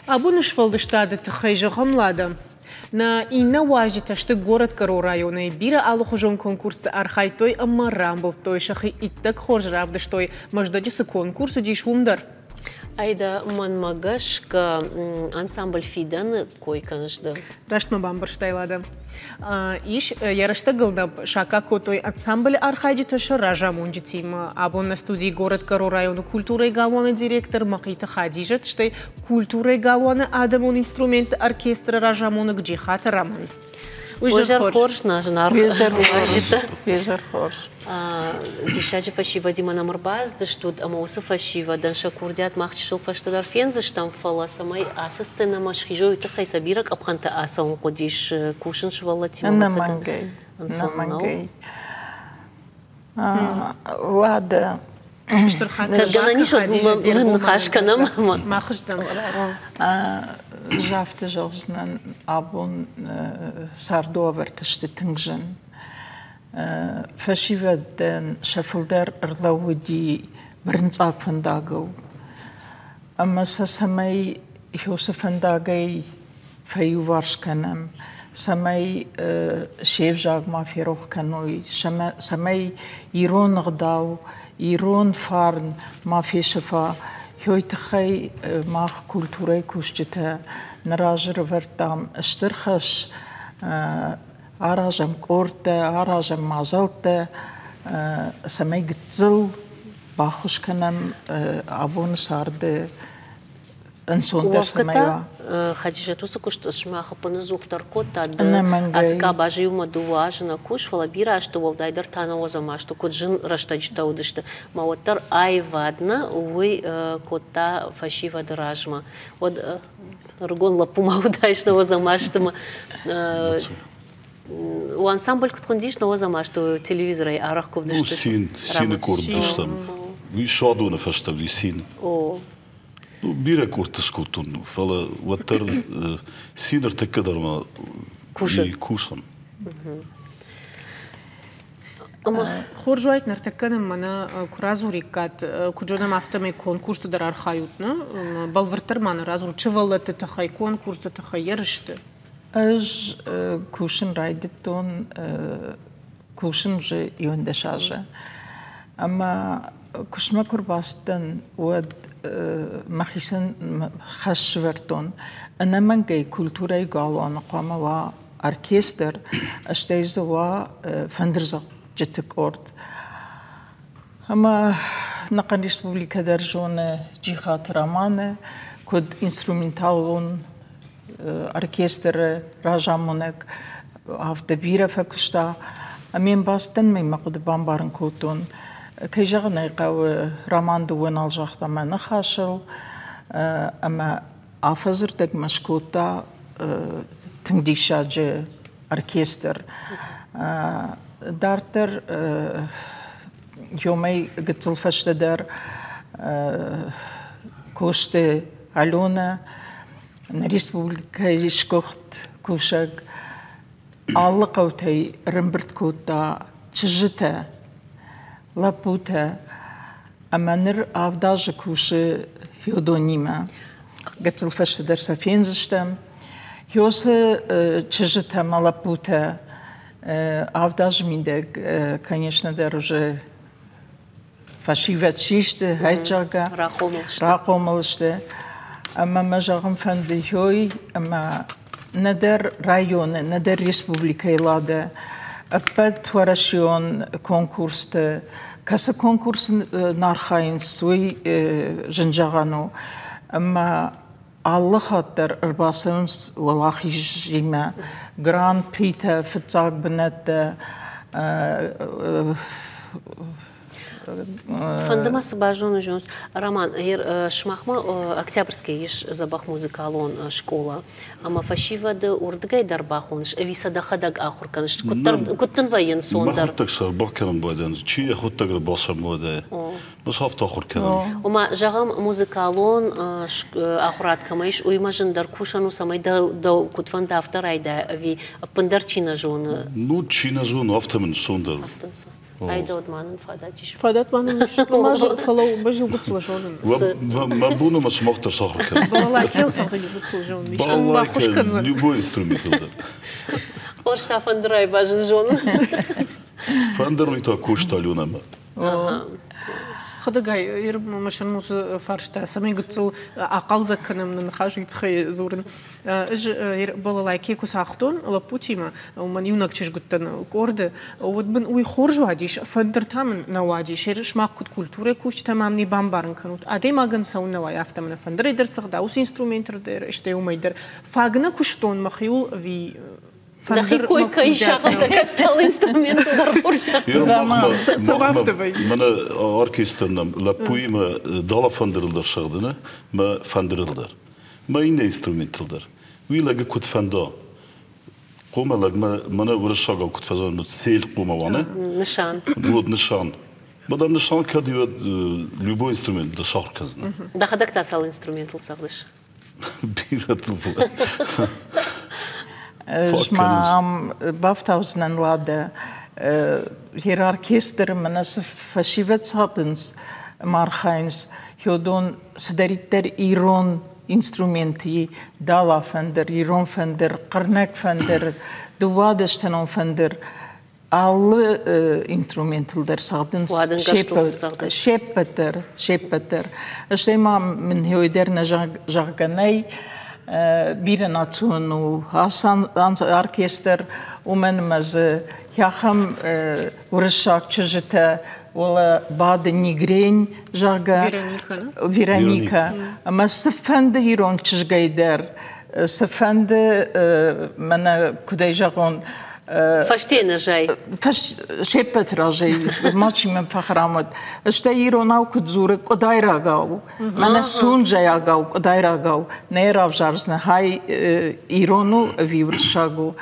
Абоны сфӕлдыстады тыххӕй зӕгъӕм, Лада, нӕ иннӕ уазджытӕ сты горӕтгӕрон районӕй. Бирӕ алыхуызон конкурсты архайдтой ӕмӕ рамбылдтой, сӕхи иттӕг хорз равдыстой, Мӕздӕджы цы конкурс уыдис, уым дӕр. Айда, мӕнмӕ гӕсгӕ, ансамбль Фидӕны кой кӕныс ды. Раст мӕ бамбӕрстай, Лада. Ис, йӕ рӕстӕгыл нӕ саккаг кодтой ансамблы архайджытӕ сӕ разамонджытимӕ. Абон нӕ студийы горӕтгӕрон районы культурӕйы галуаны директор Мӕхъиты Хадизӕт, стӕй культурӕйы галуаны адӕмон инструментты оркестры разамонӕг Джихаты Роман. Уызӕр хорз, нӕ зынаргъ уазджытӕ. Изӕр хорз. Диссаджы фӕсивӕдимӕ нӕм ӕрбацыдыстут, ӕмӕ уыцы фӕсивӕдӕн сӕ курдиат мах чысыл фӕстӕдӕр фендзыстӕм, фӕлӕ цӕмӕй ацы сценӕмӕ схизой, уый тыххӕй сӕ бирӕ къӕпхӕнтӕ ацӕуын хъуыдис кусын сывӕллӕттимӕ. Ӕнӕмӕнгӕй. Ӕнцон нӕу. Уӕдӕ Стыр хатыр. Гӕнӕн ис, ныхас кӕнӕм. Махыздӕм. Ӕз афтӕ зӕгъдзынӕн, абон царды уавӕртӕ сты тынг зын. Фӕсивӕдӕн сӕ фылдӕр ӕрлӕууыди бырынцъаг фӕндагыл. Ӕмӕ сӕ цӕмӕй уыцы фӕндагӕй фӕиуварс кӕнӕм, цӕмӕй се взаг ма ферох кӕной, цӕмӕй ирон ӕгъдау, ирон фарн ма фесӕфа, уый тыххӕй мах культурӕйы кусджытӕ нӕ разы рывӕрдтам стыр хӕс, аразӕм къордтӕ, аразӕм мадзӕлттӕ, цӕмӕй гыццыл баххуыс кӕнӕм абоны царды ӕнцондӕр цӕмӕй уа. Хадизӕт уыцы куыст сымах ӕппынӕдзухдӕр кодта, ды ацы къабазы иумӕ дыууӕ азы нӕ кус, фӕлӕ бирӕ азты, уӕлдайдӕр та нӕуӕдзӕм азты, куыд зын рӕстӕджытӕ уыдысты, ма уӕддӕр аивад нӕ уый кодта фӕсивӕды размӕ. Уӕд ӕрыгон лӕппу ма уыдаис нӕуӕдзӕм азты ма у ансамбль куыд хуындис нӕуӕдзӕм азты телевизорӕй арӕх куы уыдысты? Цин, цины къорд уыдыстӕм. Уый суадоны фӕстӕ уыди цин. О. Ну, бирӕ къордты скодтон, фӕлӕ уӕддӕр цин ӕртӕккӕ дӕр ма кусын. Хорз уаид ныртӕккӕ нын мӕнӕ куы радзуриккат, куыд зонӕм, афтӕмӕй конкурсты дӕр архайут, нӕ? Бӕлвырддӕр ма нын радзурут сывӕллӕтты тыххӕй, конкурсты тыххӕй, ерысты. Ӕз кусын райдыдтон, кусын уже 11 азы. Ӕмӕ куыстмӕ куы рбацыдтӕн, уӕд мӕхицӕн хӕс сӕвӕрдтон. Ӕнӕмӕнгӕй культурӕйы галуаны хъуамӕ уа оркестр, стӕй дзы уа фӕндырдзӕгъдджыты къорд. Ӕмӕ нӕхъӕн республикӕ дӕр зоны Джихаты Романы, куыд инструменталон оркестры разамонӕг, афтӕ бирӕ фӕкуыста. Ӕмӕ йын бацыдтӕн ӕмӕ мӕ хъуыды бамбарын кодтон. Кӕй зӕгъын ӕй хъӕуы, Роман дыууӕ нал загъта мӕ ныхасыл, ӕмӕ афӕдзы рдӕгмӕ скодта тынг диссаджы оркестр. Дарддӕр ёмӕй гыццыл фӕстӕдӕр Косты Аленӕ нӕ республикӕйы сгуыхт кусӕг алы хъӕутӕй ӕрӕмбырд кодта чызджытӕ, лӕппутӕ ӕмӕ ныр авд азы кусы Феодонимӕ. Гыццыл фӕстӕдӕр сӕ фендзыстӕм. Хёсы чызджытӕ ӕмӕ лӕппутӕ авд азы мидӕг, конечно дӕр уже фӕсивӕд систы, зӕгъгӕ, рахъомыл сты. Ӕмӕ мӕ зӕгъын фӕнды хёй, ӕмӕ нӕдӕр районы, нӕдӕр республикӕйы Лада ӕппӕт уӕрӕсеон конкурсты, кӕцы конкурсы нӕ архайынц, уый зын зӕгъӕн у. Ӕмӕ алы хатт дӕр ӕрбацӕуынц уӕлахизимӕ гран-притӕ, фыццаг бынӕттӕ. Фӕнды ма цы базонын зоныс, Роман, сымахмӕ Октябрьскӕйы ис дзӕбӕх музыкалон скъола, ӕмӕ фӕсивӕды уырдыгӕй дӕр бахоныс, ӕви сӕ дӕхӕдӕг ахуыр кӕныс? Куыд дын вӕййы ӕнцондӕр? Мӕхуыдтӕг сӕ бакӕнын байдайынц, чи йӕхуыдтӕг ӕрбацӕмуадӕй. Мӕ афтӕ ахуыр кӕнӕм. Ома, зӕгъӕм, музыкалон ахуырад кӕмӕ ис, уыимӕ зындӕр кусӕн у, цӕмӕй дӕ куыд фӕнды, афтӕ райдайа, ӕви ӕппындӕр чи нӕ зоны? Ну, чи нӕ зоны, афтӕ мын ссондӕр. Айдӕуд ма нын фадат ис. Фадат ма нын ис. Фӕлӕ мӕ иугуыцыл зонын. Мӕ бон ӕмӕ сымах дӕр сахуыр кӕнын. Балалайкӕйыл цӕгъды иугуыцыл зонын. Исты мын баххуыс кӕндзӕн. Любой инструментыл дӕр. Хорз та фӕндырӕй базын зонын. Фӕндыр уый та куыста Аленӕмӕ. Хӕдӕгай, мысын уыцы фарста, цӕмӕй гыццыл ахъӕлдзӕг кӕнӕм нӕ ныхас, уый тыххӕй дзурын. Ӕз балалайкӕ куы цагътон лӕппутимӕ, уымӕн иунӕг чызг уыдтӕн къорды, уӕд мын уый хорз уадис, фӕндыр та мын нӕ уадис. Сымах куыд культурӕйы кусджытӕ мӕм не бамбарын кӕнут. Адӕймагӕн цӕуын нӕ уайы, афтӕ мын фӕндырӕй дӕр цӕгъда, уыцы инструменты дӕр, стӕй уымӕй дӕр. Фаг нӕ куыстон мӕхиуыл ӕви Дӕхи кой кӕй сагъдта кӕстӕл инструменты дӕр хорз Мӕнӕ оркестр нӕм лӕппуимӕ дала фӕндырыл дӕр сӕгъдыны, мӕ фӕндырыл дӕр. Мӕ иннӕ инструментыл дӕр. Уый лӕгы куыд фӕнда. Хъомӕ лӕгмӕ мӕнӕ уырыссагау куыд фӕзӕгъынц, цель хъомӕ уа, не? Нысан. Вот нысан. Мадам нысан кӕд любой инструмент дӕ сахуыр кӕндзынӕ. Дӕхӕдӕг та цал инструментыл цӕгъдыс? Бирӕтыл. Ӕз ма ам бафтаудзынӕн уӕдӕ йе оркестры мӕнӕ цы фӕсивӕд цӕгъдынц ӕмӕ архайынц, уыдон цыдӕриддӕр ирон инструменты дала фӕндыр, ирон фӕндыр, хъырнӕг фӕндыр, дыууадӕстӕнон фӕндыр, алы инструментыл дӕр цӕгъдынц се ппӕт дӕр, се ппӕт дӕр. Стӕй ма мын уый дӕр нӕ зӕгъгӕ нӕй, бирӕ национ у ацы оркестр, уымӕн ӕмӕ дзы ахӕм уырыссаг чызджытӕ уӕлӕ бады Нигрень, зӕгъгӕ, Вероника. Ӕмӕ цыфӕнды ирон чызгӕй дӕр, цыфӕнды, мӕнӕ куыдӕй зӕгъон, Фӕсте нӕ зай. Се ппӕты разӕй мачи мӕм фӕхӕрам уӕд. Стӕй иронау куыд дзуры, къуыдайрагау. Мӕнӕ сунжӕйагау, къуыдайрагау. Нӕ равзардзынӕ, хай ирон у ӕви уырыссаг у.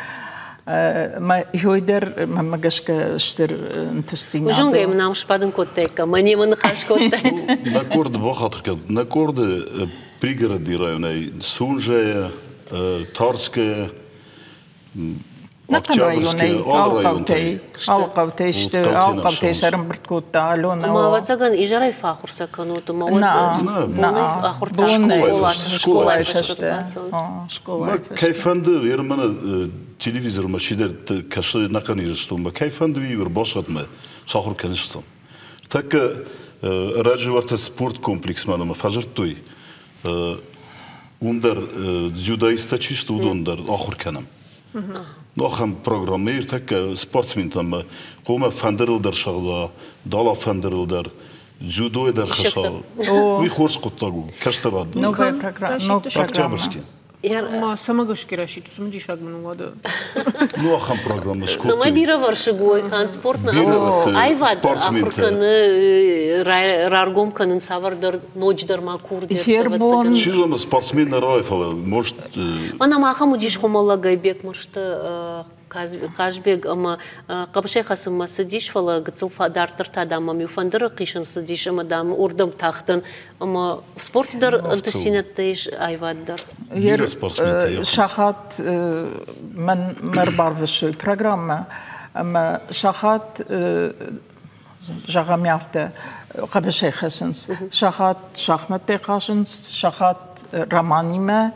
Мӕ ёй дӕр мӕнмӕ гӕсгӕ стыр ӕнтыстдзинад. Узонгӕ мын ам сбадын кодтаиккам, мӕ немӕ ныхас кодтаид. Нӕ къорды бахатыр кӕн, нӕ къорды пригороды районӕй Сунжӕйӕ, Тарскӕйӕ, Нӕхъӕн районӕй, алы хъӕутӕй, алы хъӕутӕй сты, алы хъӕутӕй сӕ ӕрӕмбырд кодта Алёнӕ. Ӕмӕ ӕвӕццӕгӕн изӕрӕй фӕахуыр сӕ кӕнут, ӕмӕ уӕд бонӕй ахуыртӕ скъолайы фӕстӕ. Кӕй фӕнды, Ерманы телевизормӕ чидӕр кӕсы нӕхъӕн Ирыстонмӕ, кӕй фӕнды, уый ӕрбацӕудмӕ сахуыр кӕныстӕм. Тӕккӕ ӕрӕджы уӕртӕ спорткомплексмӕ нӕма фӕдзырдтой, уым дӕр дзюдоисттӕ чи сты, уыдон дӕр ахуыр кӕнӕм. Ну, ахӕм программӕ ӕртӕккӕ спортсментӕм хъуамӕ фӕндырыл дӕр сӕгъда, дала фӕндырыл дӕр, дзюдойы дӕр хӕсса. Уый хорз хъуыддаг у, кӕстӕрад. Ног программа. Октябрьский. Ма цӕмӕ гӕсгӕ расидт, цымыдисаг мын у уӕдӕ. Ну, ахӕм программӕ скодтой. Цӕмӕй бирӕвӕрсыг уой, канд спорт нӕ, аивад ахуыр кӕны, раргом кӕнын цавӕрдӕр ноджыдӕр ма курдиӕттӕ. Чи зоны, спортсмен нӕ рауайы, фӕлӕ, может... Мӕнӕ ма ахӕм уыдис хуымӕллӕгӕй Бекмырзты Хъазбег ӕмӕ хъӕбысӕй хӕцынмӕ цыдис, фӕлӕ гыццыл дарддӕр та, дам, мӕм иу фӕндыры хъисын цыдис ӕмӕ, дам, уырдӕм тахтӕн. Ӕмӕ спорты дӕр ӕнтыстдзинӕдтӕ ис, аивад дӕр. Сахат мӕн мӕ ӕрбарвыстой программӕ ӕмӕ сахат зӕгъӕм афтӕ хъӕбысӕй хӕцынц, сахат шахмӕттӕй хъазынц, сахат романимӕ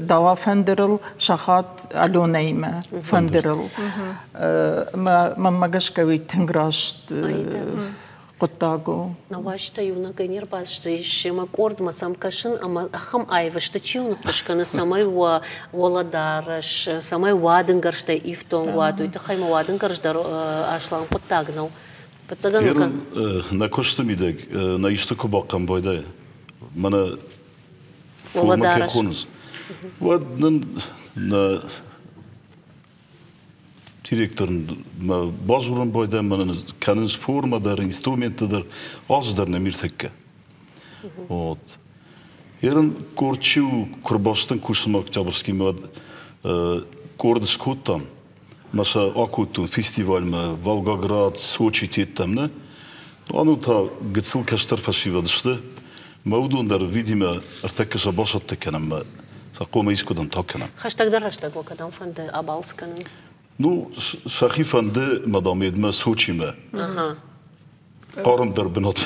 дала фӕндырыл, сахат Аленӕимӕ фӕндырыл. Мӕнмӕ гӕсгӕ уый тынг раст хъуыддаг у. Науазтӕ иунӕгӕй не рбацыдысты семӕ къордмӕ сӕм кӕсын ӕмӕ ахӕм аив сты, чи уын ӕххуыс кӕны, цӕмӕй уӕ уӕлӕдарӕс, цӕмӕй уадынгӕрзтӕй ифтонг уат, уый тыххӕй ма уадынгарз дӕр аслам хъуыддаг нӕу. Фыццагӕн Нӕ куысты мидӕг нӕ исты куы бахъӕм байдайы, мӕнӕ формӕ кӕй хонынц, уӕд нын нӕ директор мӕ бадзурын байдайы, мӕнӕ кӕнынц формӕ дӕр, инструменттӕ дӕр, алцы дӕр нӕм иртӕккӕ. Вот. Ерын къорд чи куы рбацыдтӕн кусынмӕ Октябрьскиймӕ, уӕд къорд скодтам. Мӕ сӕ акодтон фестивальмӕ Волгоград, Сочи тедтӕм, нӕ? Anu та гыццыл кӕстӕр фӕсивӕд сты, мӕ уыдон дӕр, видимо, ӕртӕккӕ сӕ басӕттӕ кӕнӕм мӕ сӕ хъомӕ искуыдӕм та кӕнӕм. Хӕстӕгдӕр рӕстӕг уӕ кӕдӕм фӕнды абалц кӕнын? Ну, сӕхи фӕнды, мадам, едмӕ Сочимӕ. Хъармдӕр бынат.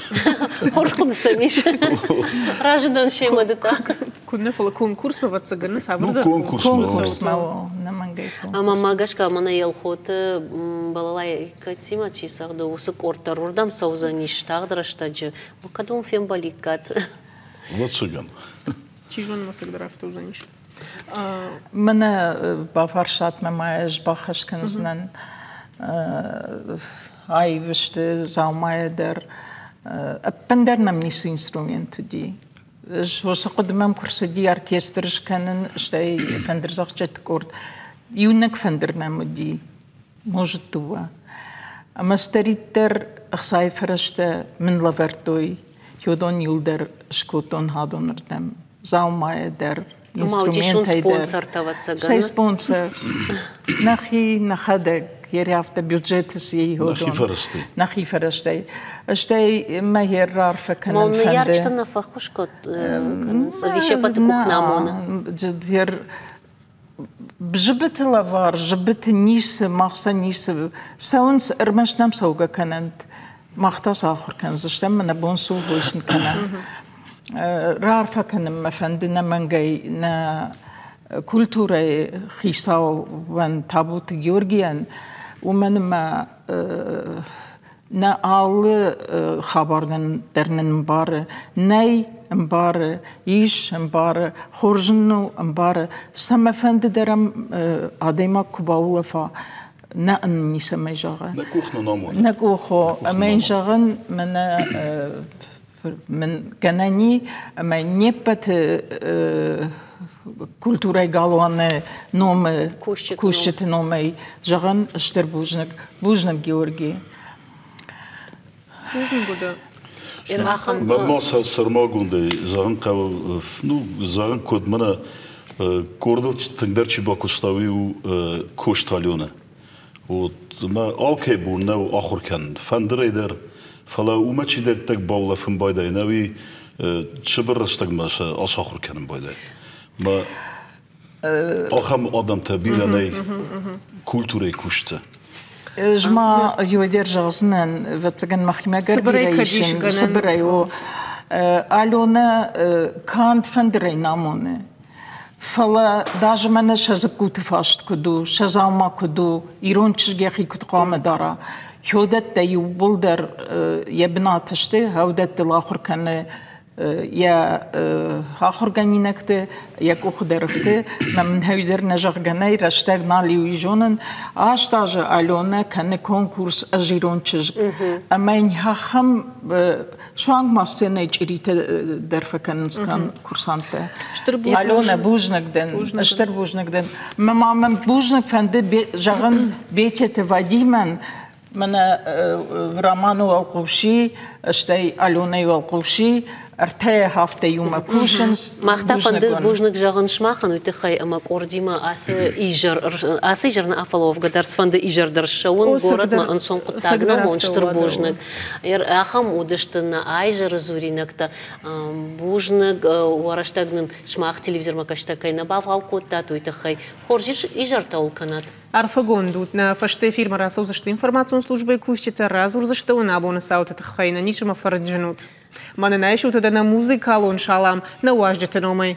Хорз хъуыды сӕм ис. Разы дӕн семӕ ды та. Куыннӕ, фӕлӕ конкурсмӕ, ӕвӕццӕгӕн, цавӕрдӕр конкурсмӕ ӕнӕмӕнгӕй. Ӕмӕ ма гӕсгӕ мӕнӕ Елхоты балалайкӕтимӕ чи цӕгъды, уыцы къорд дӕр уырдӕм цӕудзӕнис тагъд рӕстӕджы. Кӕд уым фембӕликкат? Ӕвӕццӕгӕн. Чи зоны, ма цӕгдӕр афтӕ уыдзӕнис. Мӕнӕ бафарстатмӕ ма ӕз бахӕс кӕндзынӕн аив сты дзаумайӕ дӕр. Ӕппындӕр нӕм ницы инструмент уыди. Ӕз уыцы хъуыды мӕм куы рцыди оркестр скӕнын, стӕй фӕндырдзӕгъдджыты къорд. Иунӕг фӕндыр нӕм уыди, может дыууӕ. Ӕмӕ цыдӕриддӕр ӕхцайы фӕрӕзтӕ мын лӕвӕрдтой, уыдон иуылдӕр скодтон хӕдонырдӕм. Дзаумайӕ дӕр, инструментӕй дӕр. Цӕй спонсор? Нӕхи нӕхӕдӕг ерӕфтӕ бюджеты Нӕхи фӕрӕзтӕй. Нӕхи фӕрӕзтӕй. Стӕй мӕ йе рарфӕ кӕнын фӕнды. Ныййарджытӕ нӕ фӕххуыс кӕнынц, ӕви се ппӕты къух нӕ амоны? Зыбыты лӕвар, зыбыты ницы, мах сӕ ницы. Цӕуынц, ӕрмӕст нӕм цӕугӕ кӕнӕнт. Мах та сӕ ахуыр кӕндзыстӕм, нӕ бон цы у, уый сын кӕнӕм. Раарфӕ кӕнын мӕ фӕнды нӕмӕнгӕй нӕ культурӕйы хицауӕн Табуты Георгийӕн, уымӕн ӕмӕ нӕ алы хабар нын дӕр нын ӕмбары. Нӕй ӕмбары, ис ӕмбары, хорз ын у ӕмбары. Цӕмӕфӕнды дӕр ӕм адӕймаг куы баулӕфа, нӕ ын ницӕмӕй зӕгъы. Нӕ къух нын амоны. Нӕ къух о. Ӕмӕ йын зӕгъын, мӕнӕ мын гӕнӕн и, ӕмӕ не ппӕты культурӕйы галуаны номы кусджыты номӕй зӕгъын стыр бузныг. Бузныг, Георги. Бузныг уыд. Мӕнмӕ сӕрмагондӕй зӕгъын хъӕуы, ну, зӕгъын куыд мӕнӕ къордыл тынгдӕр чи бакуыста, уый у Косты Аленӕ. Вот мӕ алкӕй бон нӕу ахуыр кӕнын, фӕндырӕй дӕр, фӕлӕ уымӕ чидӕриддӕр баулӕфын байдайы, нӕ уый цыбыр рӕстӕгмӕ сӕ ацахуыр кӕнын байдайы. Мӕ ахӕм адӕмтӕ бирӕ нӕй культурӕйы куысты. Ӕз ма иуӕдӕр зӕгъдзынӕн, ӕвӕццӕгӕн мӕхимӕ гӕр бирӕ исын, цыбырӕй о. Аленӕ канд фӕндырӕй нӕ амоны, фӕлӕ даже мӕнӕ сӕ дзыккуты фаст куыд у, сӕ дзаума куыд у, ирон чызг йӕхи куыд хъуамӕ дара. Хёдӕттӕ иууылдӕр йӕ бынаты сты, хӕудӕттыл ахуыр кӕны йӕ ахуыргӕнинӕгты йӕ къухы дӕр ӕфты, мӕ мын дӕр нӕ зӕгъгӕ нӕй, рӕстӕг нал и уый зонын. Аст азы Аленӕ кӕны конкурс «Ӕз ирон чызг». Ӕмӕ йын ахӕм суанг ма сценӕйы чъиритӕ дӕр фӕкӕнынц курсанттӕ. Аленӕ, бузныг дын, стыр бузныг дын. Мӕ ма мӕн бузныг фӕнды зӕгъын Бететы Вадимӕн, Мӕнӕ Романы уӕлхъуси, стӕй Аленӕйы уӕлхъуси ӕртӕ афтӕ иумӕ кусынц. Мах та фӕнды бузныг зӕгъын сымахӕн уый тыххӕй, ӕмӕ къордимӕ ацы изӕр, ацы изӕр нӕ афӕловгӕ дӕр, цыфӕнды изӕр дӕр ссӕуын горӕтмӕ ӕнцон хъуыддаг нӕу, стыр бузныг. Ахӕм уыдысты нӕ айзӕры дзуринӕгтӕ. Бузныг, уӕ рӕстӕг нын сымах телевизормӕ кӕстӕ кӕй нӕ бавгъау кодтат, уый тыххӕй. Хорз изӕртӕ уыл кӕнӕд. Арфӕгонд ут, нӕ фӕстӕ эфирмӕ рацӕудзысты информацион службӕйы кусджытӕ, радзурдзысты уын абоны цауты тыххӕй, нӕ низмӕ фӕрынчын ут. Мӕнӕн айсут нӕ музыкалон салам нӕ уазджыты номӕй.